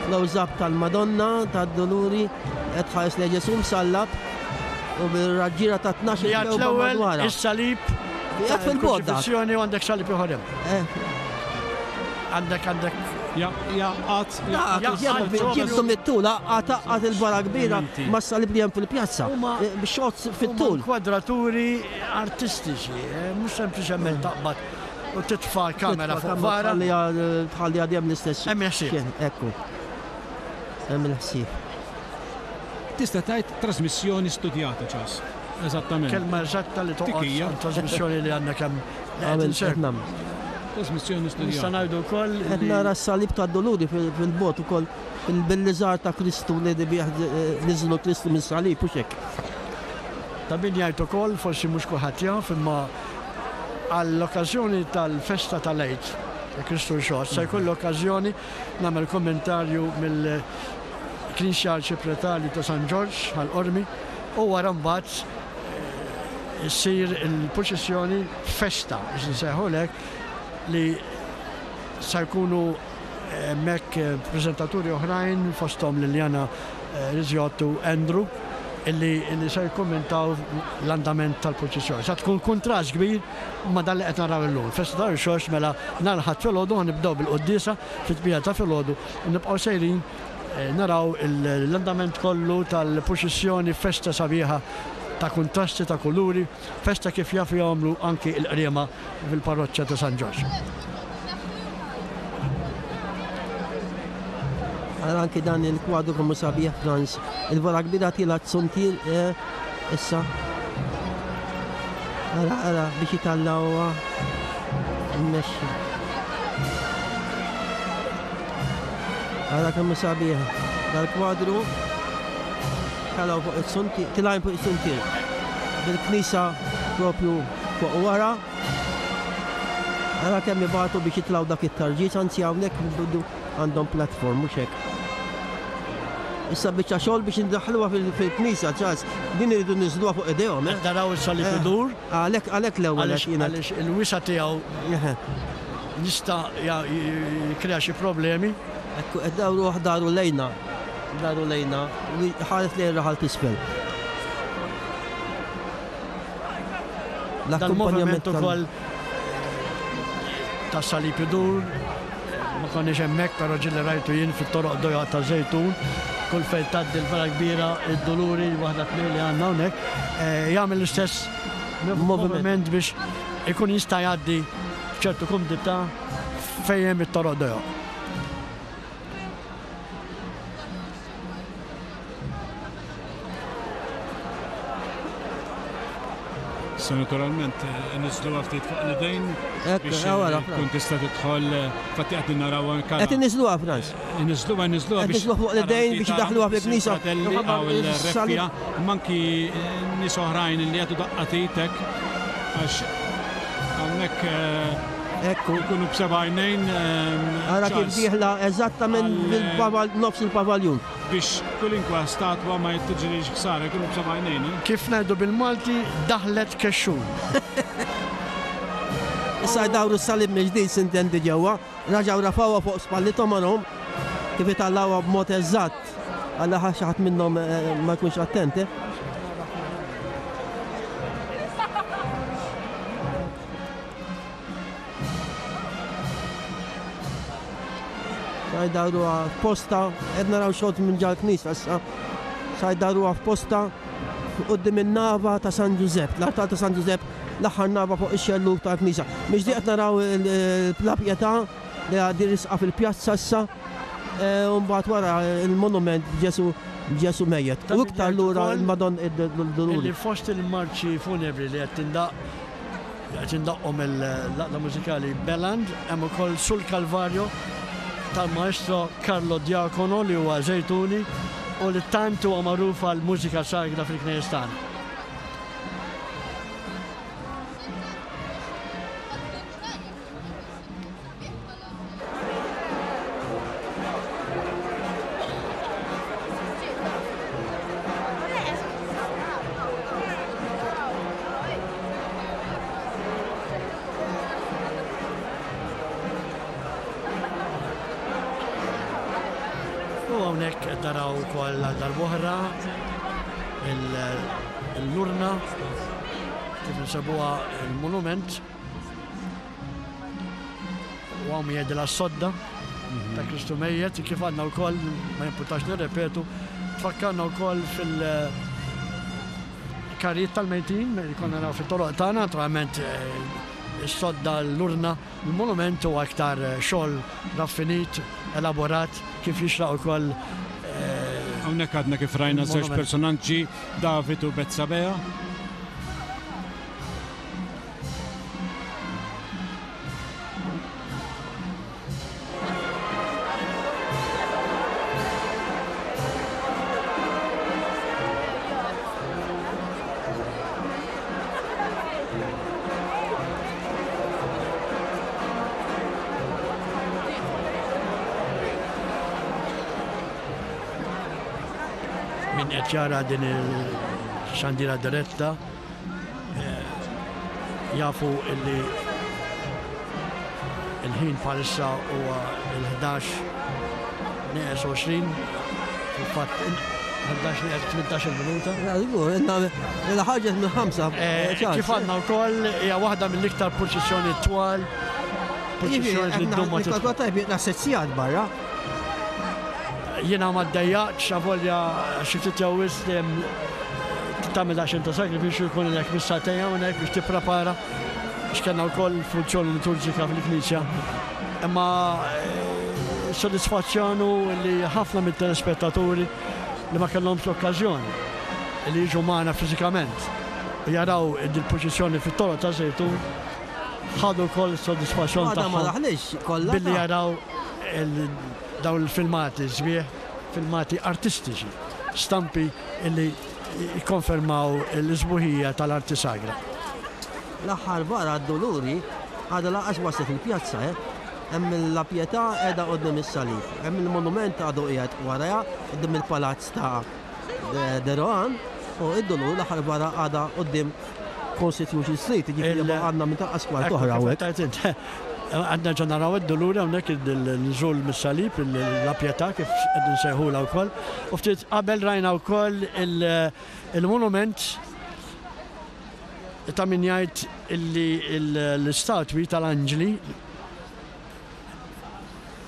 Close-up tal-Madonna tad-Duluri qed tħares lejn Ġesù msallab u bil-raġġiera ta' 12 Jgħid l-ewwel is-salib Qiegħed fil-bogħod dak. Kruċifissjoni u għandek salib ieħor hemm. Għandek għandek Jaqgħad Ġibtu mit-tul, għad il-vara kbira mas-salib li hemm fil-pjazza. Shots fit-tul. Kwadraturi artistiċi, mhux sempliċement taqbad U titfa' l-kamera fuq vara. Tħalli għadjem l-istess. Hemm il-ħsieb. Ekku. Hemm il-ħsieb. Tista' tgħid trasmissjoni studjata ċas. Eżattament. Kelma eżatta li toqgħod trasmissjoni li għandna kemm. Trasmissjoni studjata. Nista' ngħidu wkoll. Qed nara s-salib tad-Duluri fil-bogħod ukoll bil-liżar ta' Kristu li bih niżlu Kristu mis-salib u x'hekk. Ta' min jgħid ukoll, forsi mhux kulħadd jaf, imma Għall-okkażjoni tal-festa tal-Għid, ta' Kristu Rxoxt, se jkolli okkażjoni nagħmel kummentarju mill-Knisja Arċipretali ta' San Ġorġ, Ħal Qormi, u wara mbagħad issir il-purċissjoni festa, biex insejħulha hekk, li se jkunu hemmhekk preżentaturi oħrajn fosthom Liliana Rizziotto u Andrew illi se jikkummentaw l-andament tal-purċissjoni. Sa tkun kuntrast kbir ma' dan li qed naraw illum. Festa ta' Rxoxt mela nhar il-Ħadd filgħodu ħa nibdew bil-quddiesa fit-tmienja ta' filgħodu u nibqgħu sejrin naraw l-andament kollu tal-purċissjoni festa sabiħa ta' kuntrasti ta' kuluri, festa kif jafu jagħmlu anki l-Qriema fil-parroċċa ta' San Ġorġ. Ara anki dan il-kwadru kemm hu sabiħ Franz. Il-vara kbira tiela t-suntier eh, issa. Ara, ara, biex jitallawha mmexxi. Ara kemm hu sabiħ dal-kwadru. Telgħu fuq is-suntier, tilgħin fuq is-suntier. Bil-knisja propju fuq wara. Ara kemm ibatu biex jitilgħu dak it-tarġiġ, anzi hawnhekk għandhom platform mhux hekk. Issa biċċa xogħol biex indaħħluha fil-knisja, ċas, din iridu niżluha fuq idejhom. Eh? Naraw is-salib eh, idur. Għalhekk għalhekk l-ewwel għaliex il-wisa tiegħu. Jista' jikkrea xi problemi. Ekku qed dawruh daru lejna, daru lejna u ħares lejn raħal t'isfel. L-akkumpanjament ukoll ta' salib idur, ma konniex hemmhekk però ġieli rajtu jien fit-toroq dojoq ta' Żejtun, kull fejn tgħaddi l-vara kbira, id-Duluri, waħda tnejn li għandna hawnhekk, eh, jagħmel l-istess moviment biex ikun jista' jgħaddi b'ċertu kumdità fejn hemm it-toroq dojoq. Issa naturalment niżluha ftit fuq l-idejn biex tkun tista' tidħol fatti qed naraw anke. Qed iniżluha Franz. Iniżluha niżluha biex fuq l-idejn biex idaħluha fil-knisja. Fratelli hawn il-reffija, manki nies oħrajn li jagħtu daqqa t'itek għax hawnhekk Ekku. Ikunu b'seba' għajnejn. Ara kif dieħla eżattament nofs il-pavaljun. Biex kulinkwa statwa ma tiġrix ħsara, ikunu b'seba' għajnejn. Eh? Kif ngħidu bil-Malti, daħlet kexxun. Issa jdawru s-salib mill-ġdid sintendi ġewwa, raġgħu rafgħuha fuq spallithom arahom kif itallgħuha b'mod eżatt għal xi ħadd minnhom eh, ma jkunx attent. Eh? Sa jdawruha f'posta, qed naraw xogħol minn ġal-knisja issa. Sa jdawruha f'posta quddiem in-nava ta' San Ġużepp, l-artal ta' San Ġużepp, l-aħħar nava fuq ix-xellug tal-knisja. Mix qed naraw il-Pla Pietà li għaddi risqa fil-pjazza issa, e, u mbagħad wara il-monument Ġesu Ġesu mejjet. U iktar lura il-Madonna id-Duluri. Fost il-marċi funebri li qed tindaq Qed indaqqu mill-Għaqda Mużikali Beland, hemm ukoll Sul Calvario tal-Maestro Carlo Diacono li huwa Żejtuni u li tant huwa magħruf għall-mużika sagra fil-knejjes tagħna. U hawnhekk qed naraw ukoll għal darb'oħra l-urna kif insebuha il-monument. U hawn jgħidilha s-sodda ta' Kristu mejjet, kif għandna wkoll, ma jimpurtax nirrepetu, tfakkarna wkoll fil- karijiet tal-mejtin li konna naraw fit-toroq tagħna, naturalment eh, is-sodda l-urna, il-monument huwa aktar eh, xogħol raffinit, elaborat, kif jixraq ukoll eh, Hawnhekk għadna kif rajna żewġ personaġġi, David u Betsabea. Min qed jara din il-xandira diretta Jafu illi il-ħin bħalissa huwa il-11 nieqes 20, fil-fatt 11 nieqes 18 minuta. Illa ħarġet minn ħamsa. Eh, kif għandna wkoll hija waħda mill-iktar purċissjoni twal. Purċissjoni li ddum ma tidħol. Naħseb barra. Jiena ma ddejjaqtx avolja xi ftit jew wisq dejjem tagħmel daqsxejn ta' sagrifiċċju jkun ilek mis-sagħtejn hawnhekk biex tipprepara għax kellna wkoll funzjoni liturġika fil-knisja. Imma eh, sodisfazzjon hu li ħafna mit-telespettaturi li ma kellhomx l-okkażjoni li jiġu magħna fiżikament u jaraw il-purċissjoni fit-toroq ta' Żejtun ħadu wkoll is-sodisfazzjon tagħhom billi jaraw dawn il-filmati sbieħ, filmati artistiċi, stampi li jikkonfermaw l-isbuħija tal-arti sagra. L-aħħar vara għad-Duluri għadha lanqas waslet il-pjazza, eh. Hemm il-La Pietà qiegħda quddiem is-salib, hemm il-monument għadu qiegħed warajha quddiem il-palazz ta' De Rohan u id-Dulur l-aħħar vara għadha quddiem Constitution Street, jiġifieri għandna minn tal-qas kwart oħra hawnhekk. Qed nerġa' naraw id-duluri hawnhekk il-nżul mis-salib, la Pietà kif qed insejħulha wkoll. U ftit qabel rajna wkoll il-monument ta' min jgħid illi l-istatwi tal-anġli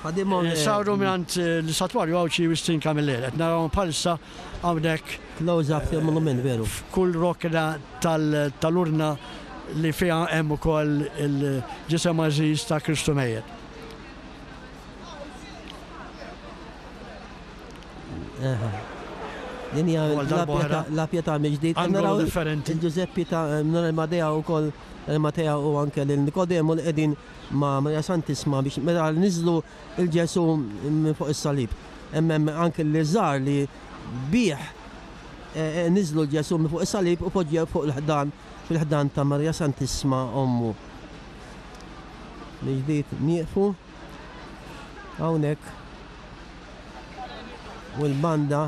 saru mingħand l-istatwarju Għawdxi Wistin Camilleri. Qed narawhom bħalissa hawnhekk. Close up fil-monument veru. F'kull rokna tal-urna li fiha hemm ukoll il-ġisem għażiż ta' Kristu mejjet. Din hija la Pietà mill-ġdid. Naraw differenti. Il-Ġużeppi ta' Matea wkoll Matea u anke lil Nikodemu li qegħdin ma' Maria Santisma biex meta niżlu il-Ġesu minn fuq is-salib. Hemm hemm anke li żar li bih niżlu l-Ġesu minn fuq is-salib u poġġew fuq il-ħdan fil-ħdan ta' Maria Santissima ommu. Mill-ġdid nieqfu hawnhekk u l-banda.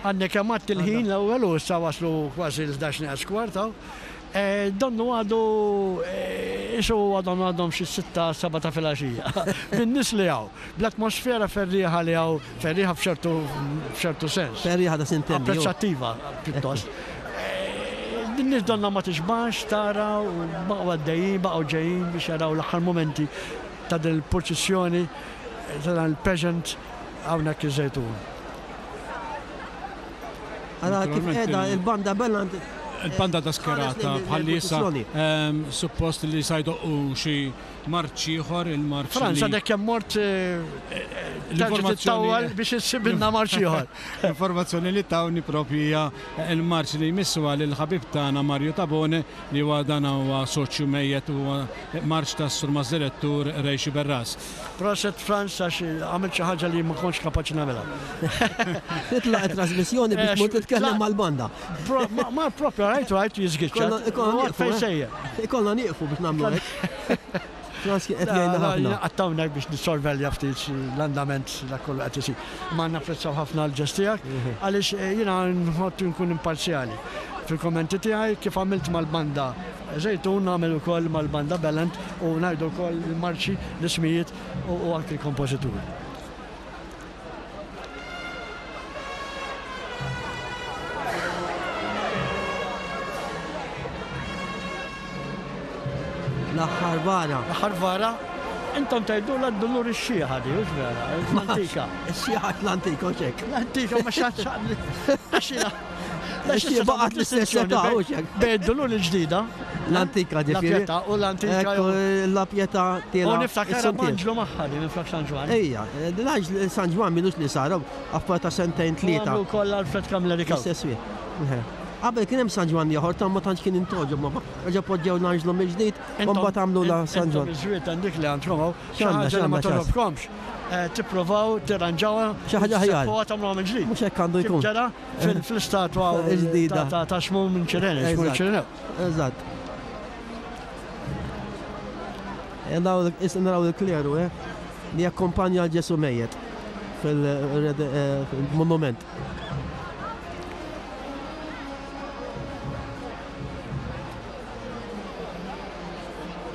Għadni kemm għadt il-ħin l-ewwel u issa waslu kważi l-11 nieqes kwart hawn. Donnu għadu qisu għadhom għadhom xi s-sitta, seba' ta' filgħaxija. Bin-nies li hawn, bl-atmosfera ferrieħa li hawn, ferrieħa f'ċertu f'ċertu sens. Ferrieħa ta' sintendi. Apprezzattiva pjuttost. Din-nies donnha ma tixbax tara u baqgħu għaddejjin, baqgħu ġejjin biex jaraw l-aħħar mumenti ta' din il-purċissjoni, ta' dan il-pageant hawnhekk iż-Żejtun. Ara kif qiegħda il-banda bella Il-banda ta' skerata bħalli issa ehm, suppost li sa jdoqqu xi marċ ieħor il-marċ. Franz għadek kemm mort eh, l-informazzjoni biex issibilna marċ ieħor. Informazzjoni li tawni propju hija il-marċ li jmissu għal il-ħabib tagħna Mario Tabone li huwa dan huwa soċju mejjet huwa marċ tas-Surmast Direttur Ray Sciberras. Proset Frans għax għamilt xi ħaġa li ma kontx kapaċi nagħmilha. Titlaq it-trasmissjoni biex tmur titkellem mal-banda. Ma propju rajtu rajtu jiżgiċċa. Ikollna nieqfu. Eh? Ikollna nieqfu biex nagħmlu hekk. Frans kien qed jgħinna ħafna. Għattawnek biex nissorvelja ftit l-andament dak kollu qed isir. Ma napprezzaw ħafna l-ġest tiegħek mhm. għaliex eh, jiena nħodd nkun imparzjali fil-kommenti tiegħi kif għamilt mal-banda Żejtun nagħmel ukoll mal-Banda Bellent u ngħidu wkoll il-marċi, l-ismijiet u anki l-kompożituri. L-aħħar vara. L-aħħar vara. Intom tgħidulha d-dulur ix-xieħa di, hux vera? L-antika. Ix-xieħa l-antika, hux hekk. L-antika ma xaċċaqli. Għax baqgħet l-istess età, hux hekk. Bejn id-dulur il-ġdida. L-antika ġifieri. La Pietà u l-antika. La Pietà tiela. U niftakar b'anġlu magħha di minflok San Ġwann. Ejja, l-anġlu San Ġwann minux li sar, affar ta' sentejn tlieta. Għamlu wkoll Alfred Camilleri Cauchi. L-istess wieħed. Qabel kien hemm San Ġwann ieħor ta' ma tantx kien intogħġob ma reġa' poġġew l-anġlu mill-ġdid u mbagħad għamlu la San Ġwann. Intom iż-żwiet għandik li għandkom hawn, xi ħaġa li ma togħġobkomx, tipprovaw tirranġawha, xi ħaġa aħjar. Tagħmluha mill-ġdid. Mhux hekk għandu jkun. Kif ġara fl-istatwa ta' Xmun minn Ċirene, Xmun Ċirenew. Eżatt. Naraw il-kleru, eh, li jakkompanja l-Ġesu mejjet fil-monument.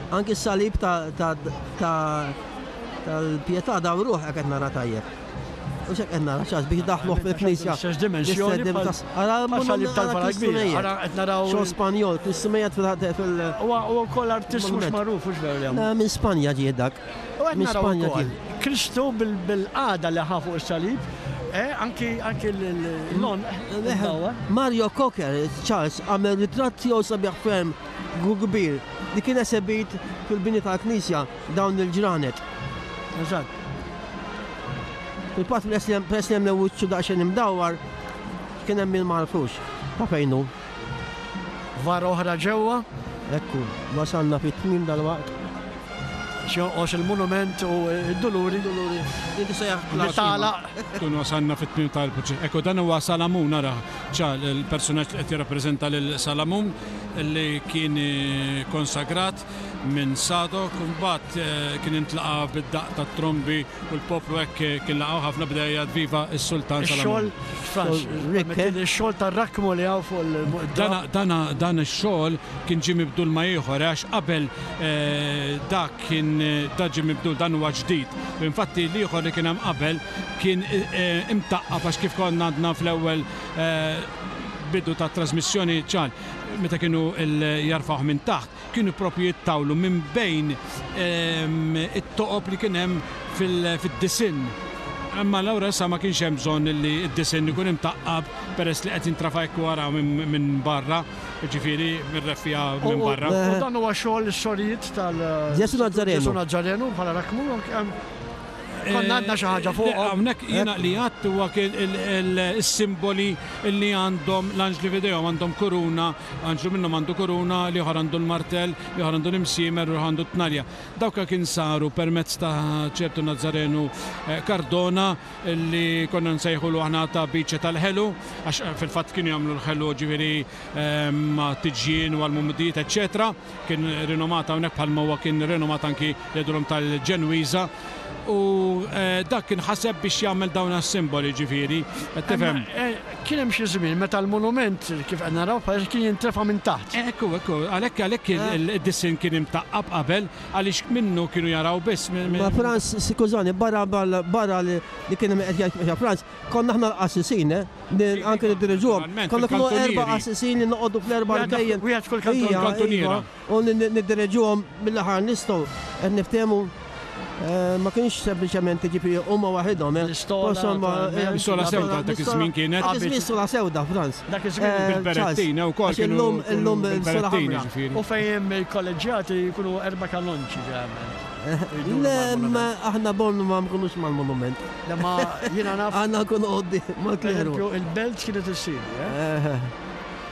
Anki s-salib tal-pietà dawruh hekk qed nara tajjeb. U xek qed nara ċas biex daħluh fil-knisja. L-istess dimensjoni. Ara salib tal-vara kbira. Ara qed naraw. Xogħol Spanjol, Kristu mejjet fil. Huwa wkoll artist mhux magħruf hux veru li hemm. Minn Spanja ġie dak. U qed naraw ukoll Kristu bil-qagħda li ħa fuq is-salib, eh, anki anki l-lon. Mario Cocker, Charles, għamel ritratt tiegħu sabiħ ferm kbir li kien esebit fil-bini tal-knisja dawn il-ġranet. Eżatt. Fil-fatt peress li hemm wiċċu daqsxejn imdawwar, kien hemm min ma għarfux ta' fejn hu. Vara oħra ġewwa. Ekku, wasalna fit-tmiem dalwaqt. X'jonqos il-monument u d-Duluri. Duluri. Li tista' Li tagħlaq. Tkun wasalna fit-tmiem tal-proċess. Ekku dan huwa Salamun ara ċa l-personaġġ li qed jirrappreżenta lil Salamun li kien konsagrat minn Sadok u mbagħad kien intlaqa' bid-daqq tat-trombi u l-poplu hekk kien laqgħu ħafna beda jgħid viva s-sultan Salamun. Ix-xogħol, Frans, ix-xogħol tar-rakkmu li hawn fuq il-. Dan dan ix-xogħol kien ġie mibdul ma' ieħor għax qabel dak kien da ġie mibdul dan huwa ġdid. Infatti l-ieħor li kien hemm qabel kien imtaqqab għax kif konna għadna fl-ewwel bidu tat-trasmissjoni ċar meta kienu jarfgħuh minn taħt, kienu propju jittawlu minn bejn it-toqob li kien hemm fid-disinn. Imma allura issa ma kienx hemm bżonn li d-disinn ikun imtaqqab peress li qed jintrafa' hekk wara minn barra. Jiġifieri mir-reffiegħa minn barra. U dan huwa xogħol is-sorijiet tal- Ġesu Nazzarenu. Ġesu Nazzarenu bħala rakmu. Konna għandna xi ħaġa fuqhom. Hawnhekk jiena li għadt huwa kien is-simboli li għandhom l-anġli f'idejhom, għandhom kuruna, anġlu minnhom għandu kuruna, l-ieħor għandu l-martell, l-ieħor għandu l-imsiemer u l-ieħor għandu t-tnalja. Dawk kien saru permezz ta' ċertu Nazzarenu Cardona li konna nsejħulu aħna ta' biċċa tal-ħelu, għax fil-fatt kienu jagħmlu l-ħelu ġifieri ma' tiġjien u għall-mumdijiet eċċetera. Kien rinomat hawnhekk bħalma huwa kien rinomat anki jgħidulhom tal-Ġenwiża. U dak kien ħaseb biex jagħmel dawn is-simboli ġifieri, qed tifhem? Kien hemm xi żmien meta l-monument kif qed naraw bħalissa kien jintrefa' minn taħt. Ekku, ekku, għalhekk għalhekk id-disinn kien imtaqqab qabel Għaliex minnu kienu jaraw biss. Ma Frans, skużani, barra barra li kien hemm qed jgħid Frans, konna aħna l-qassisin, eh? Anke niddiriġuhom. Konna kienu erba' qassisin li noqogħdu fl-erba' rkejjen. Wieħed f'kull kantuniera. U niddiriġuhom mill-aħħar nistgħu qed niftehmu ma kienx sempliċement jiġifieri huma waħidhom. L-istola sewda dak iż-żmien kienet. Dak iż-żmien stola sewda, Frans. Dak iż-żmien bil-berettina wkoll kienu. Illum illum bil-berettina ġifieri. U fejn hemm il-kolleġġjati jkunu erba' kanonċi ġeneralment. Le, ma aħna bornu ma nkunux mal-monument. Le ma jiena naf. Aħna nkunu quddiem mal-kleru. Pereżempju il-belt kienet issir, eh?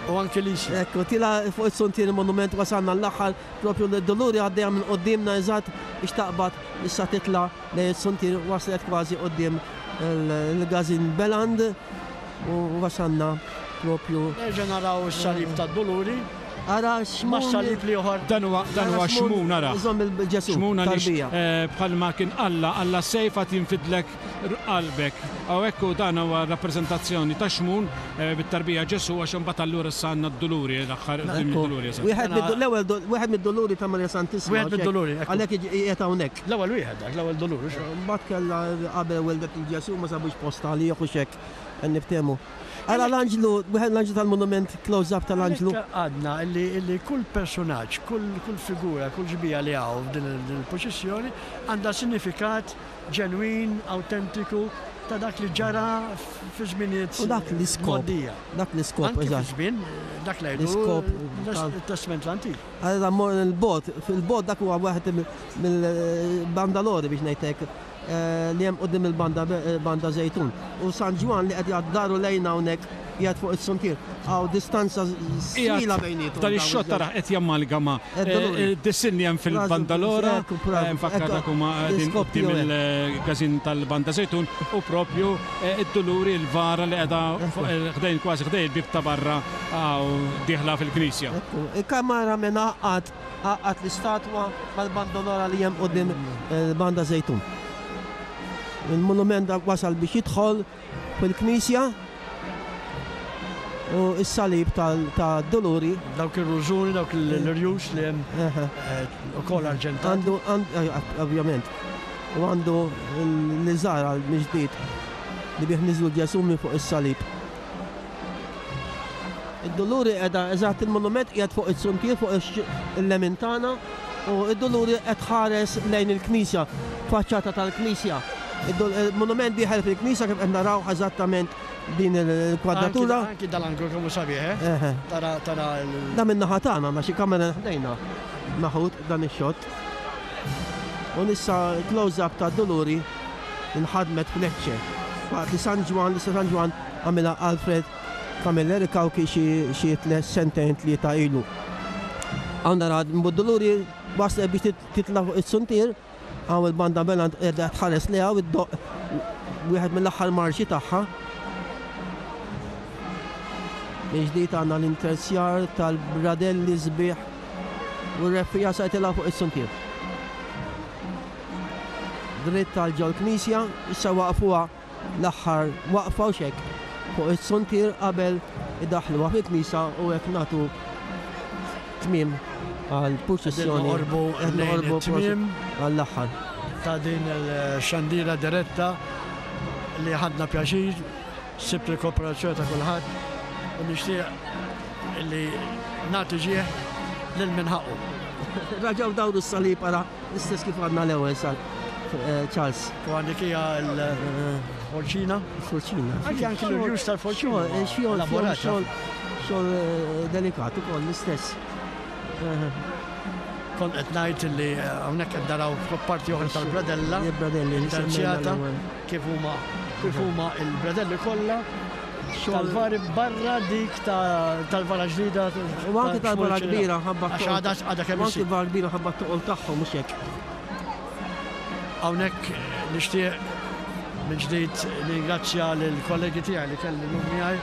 U anke l-Isla. Ekku, tila fuq is-suntier il-monument wasalna l-aħħar propju l-Duluri għaddejja minn quddiemna eżatt biex taqbad issa titla' lejn is-suntier waslet kważi quddiem il-Gazin Beland. U wasalna propju. Nerġa' naraw is-salib tad-Duluri. Ara xmun. Mas-salib l-ieħor. Dan huwa dan huwa xmun ara. Iżomm il-Ġesù. Xmun għaliex bħalma kien Alla, Alla sejf għad jinfidlek qalbek. Hawnhekk hu dan huwa rappreżentazzjoni ta' xmun bit-tarbija Ġesù għax imbagħad allura issa għandna d-Duluri l-aħħar quddiem id-Duluri eżatt. Wieħed l-ewwel wieħed mid-Duluri ta' Marija Santissima. Wieħed mid-Duluri. Għalhekk qiegħed hawnhekk. L-ewwel wieħed dak, l-ewwel Dulur. Mbagħad kellha qabel weldet lil Ġesù ma sabux post għalih u x'hekk. Qed niftehmu. Ara l-anġlu, wieħed l-anġlu tal-monument, close up tal-anġlu. Għalhekk għadna li kull personaġġ, kull figura, kull xbieha li hawn f'din il-purċissjoni għandha sinifikat ġenwin, awtentiku ta' dak li ġara fi żminijiet U dak l-iskop. mgħoddija. Dak l-iskop, Anki fi eżatt. żmien dak li jgħidu L-iskop it-Testment l-Antik. Allura mmorru l-bogħod, fil-bogħod dak huwa wieħed mill-bandalori biex ngħid hekk. Li hemm quddiem il-banda banda Żejtun. U San Ġwann li qed jgħaddi daru lejna hawnhekk qiegħed fuq is-suntier. Hawn distanza twila bejniethom. Dan ix-xott tara qed jammalgama d-disinn li hemm fil-Bandalora, nfakkar dak huma qegħdin quddiem il-każin tal-Banda Żejtun u propju d-Duluri l-vara li qiegħda ħdejn kważi ħdejn il-bieb ta' barra dieħla fil-knisja. Il-kamara minn għaqqad Għaqqad l-istatwa mal-bandolora li hemm quddiem il-Banda Żejtun. Il-monument wasal biex jidħol fil-knisja u s-salib tad-Duluri. Dawk ir-rużuni, dawk l-irjus li hemm ukoll arġentati. Għandu, ovvjament, u għandu l-liżar għal mill-ġdid li bih niżlu Ġesù minn fuq is-salib. Id-Duluri qiegħda eżatt il-monument qiegħed fuq it-suntier fuq il-lemin tagħna u d-Duluri qed tħares lejn il-knisja, faċċata tal-knisja. Il-monument dieħel fil-knisja kif qed naraw eżattament din il-kwadratura. Anki dal-anglu kemm hu sabiħ, eh? Tara tara Da min-naħa tagħna għandna xi kamera ħdejna meħud dan ix-xott. U nissa close-up ta' Duluri inħadmet f'Lecce. Waqt li San Ġwann, l-istess San Ġwann għamilha Alfred Camilleri Cauchi xi xi sentejn tlieta ilu. Hawn nara Duluri waslet biex titla' fuq is-suntier, hawn il-banda Beland qiegħda tħares lejha u ddoqq wieħed mill-aħħar marxi tagħha. Mill-ġdid għandna l-interzjar tal-bradelli sbieħ u r-reffiegħa se jitilgħu fuq is-suntier. Dritt għal ġol-knisja, issa waqfuha l-aħħar waqfa u x'hekk fuq is-suntier qabel idaħħluha fil-knisja u hekk nagħtu tmiem għall-purċissjoni. Qed noqorbu tmiem għall-aħħar. Ta' din il-xandira diretta li ħadna pjaċir, sibt il-kooperazzjoni ta' kulħadd u nixtieq li nagħti ġieħ lil min ħaqqu. Raġgħu dawru s-salib ara L-istess kif għadna l-ewwel sal eh, Charles. U għandek hija l-forċina. Forċina. Anki anki l-rjus tal-forċina. Eh, xogħol xogħol xogħol eh, delikat ukoll l-istess. Kont qed ngħid li hawnhekk qed naraw parti oħra tal-bradella. Il-bradelli terzjata kif huma kif huma il-bradelli kollha tal-vari barra dik tal-vara ġdida. U anke tal-vara kbira ħabba. Għax għadha għadha kemm Anke vara kbira ħabba t-toqol tagħhom mhux hekk. Hawnhekk nixtieq minn ġdid ningrazzja lill-kollegi tiegħi li kelli llum miegħi,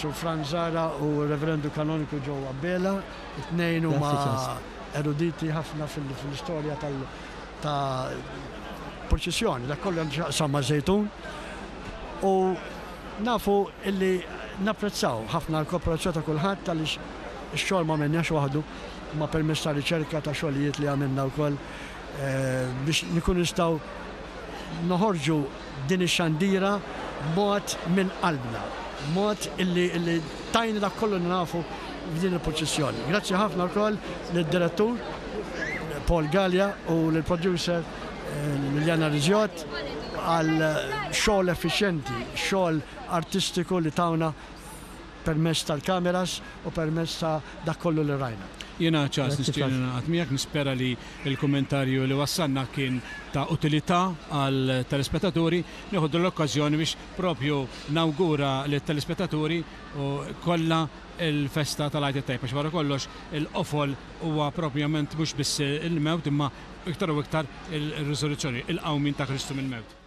Sur Franz Zahra u r-Reverendu Kanoniku Joe Abela. It-tnejn huma eruditi ħafna fil-istorja tal- ta' purċissjoni, dak kollu għandu x'jaqsam ma' Żejtun u nafu illi napprezzaw ħafna l-kooperazzjoni ta' kulħadd għaliex ix-xogħol ma għamilniex waħdu imma permezz ta' riċerka ta' xogħlijiet li għamilna wkoll biex nkunu nistgħu noħorġu din ix-xandira b'mod minn qalbna, b'mod illi tajna dak kollu li nafu f'din il-purċissjoni. Grazzi ħafna wkoll lid-direttur Paul Galea u lill-producer Liliana Rizjot għal xogħol effiċjenti, xogħol artistiku li tawna permezz tal-kameras u permezz ta' dak kollu li rajna. Jiena Charles nixtieq ningħaqad miegħek, nispera li l-kummentarju li wassalna kien ta' utilità għall-telespettaturi. Nieħu din l-okkażjoni biex propju nawgura lit-telespettaturi kollha l-festa tal-Għid it-Tajjeb għax wara kollox il-qofol huwa propjament mhux biss il-mewt imma iktar u iktar ir-risurrezzjoni, il-qawmien ta' Kristu mill-mewt.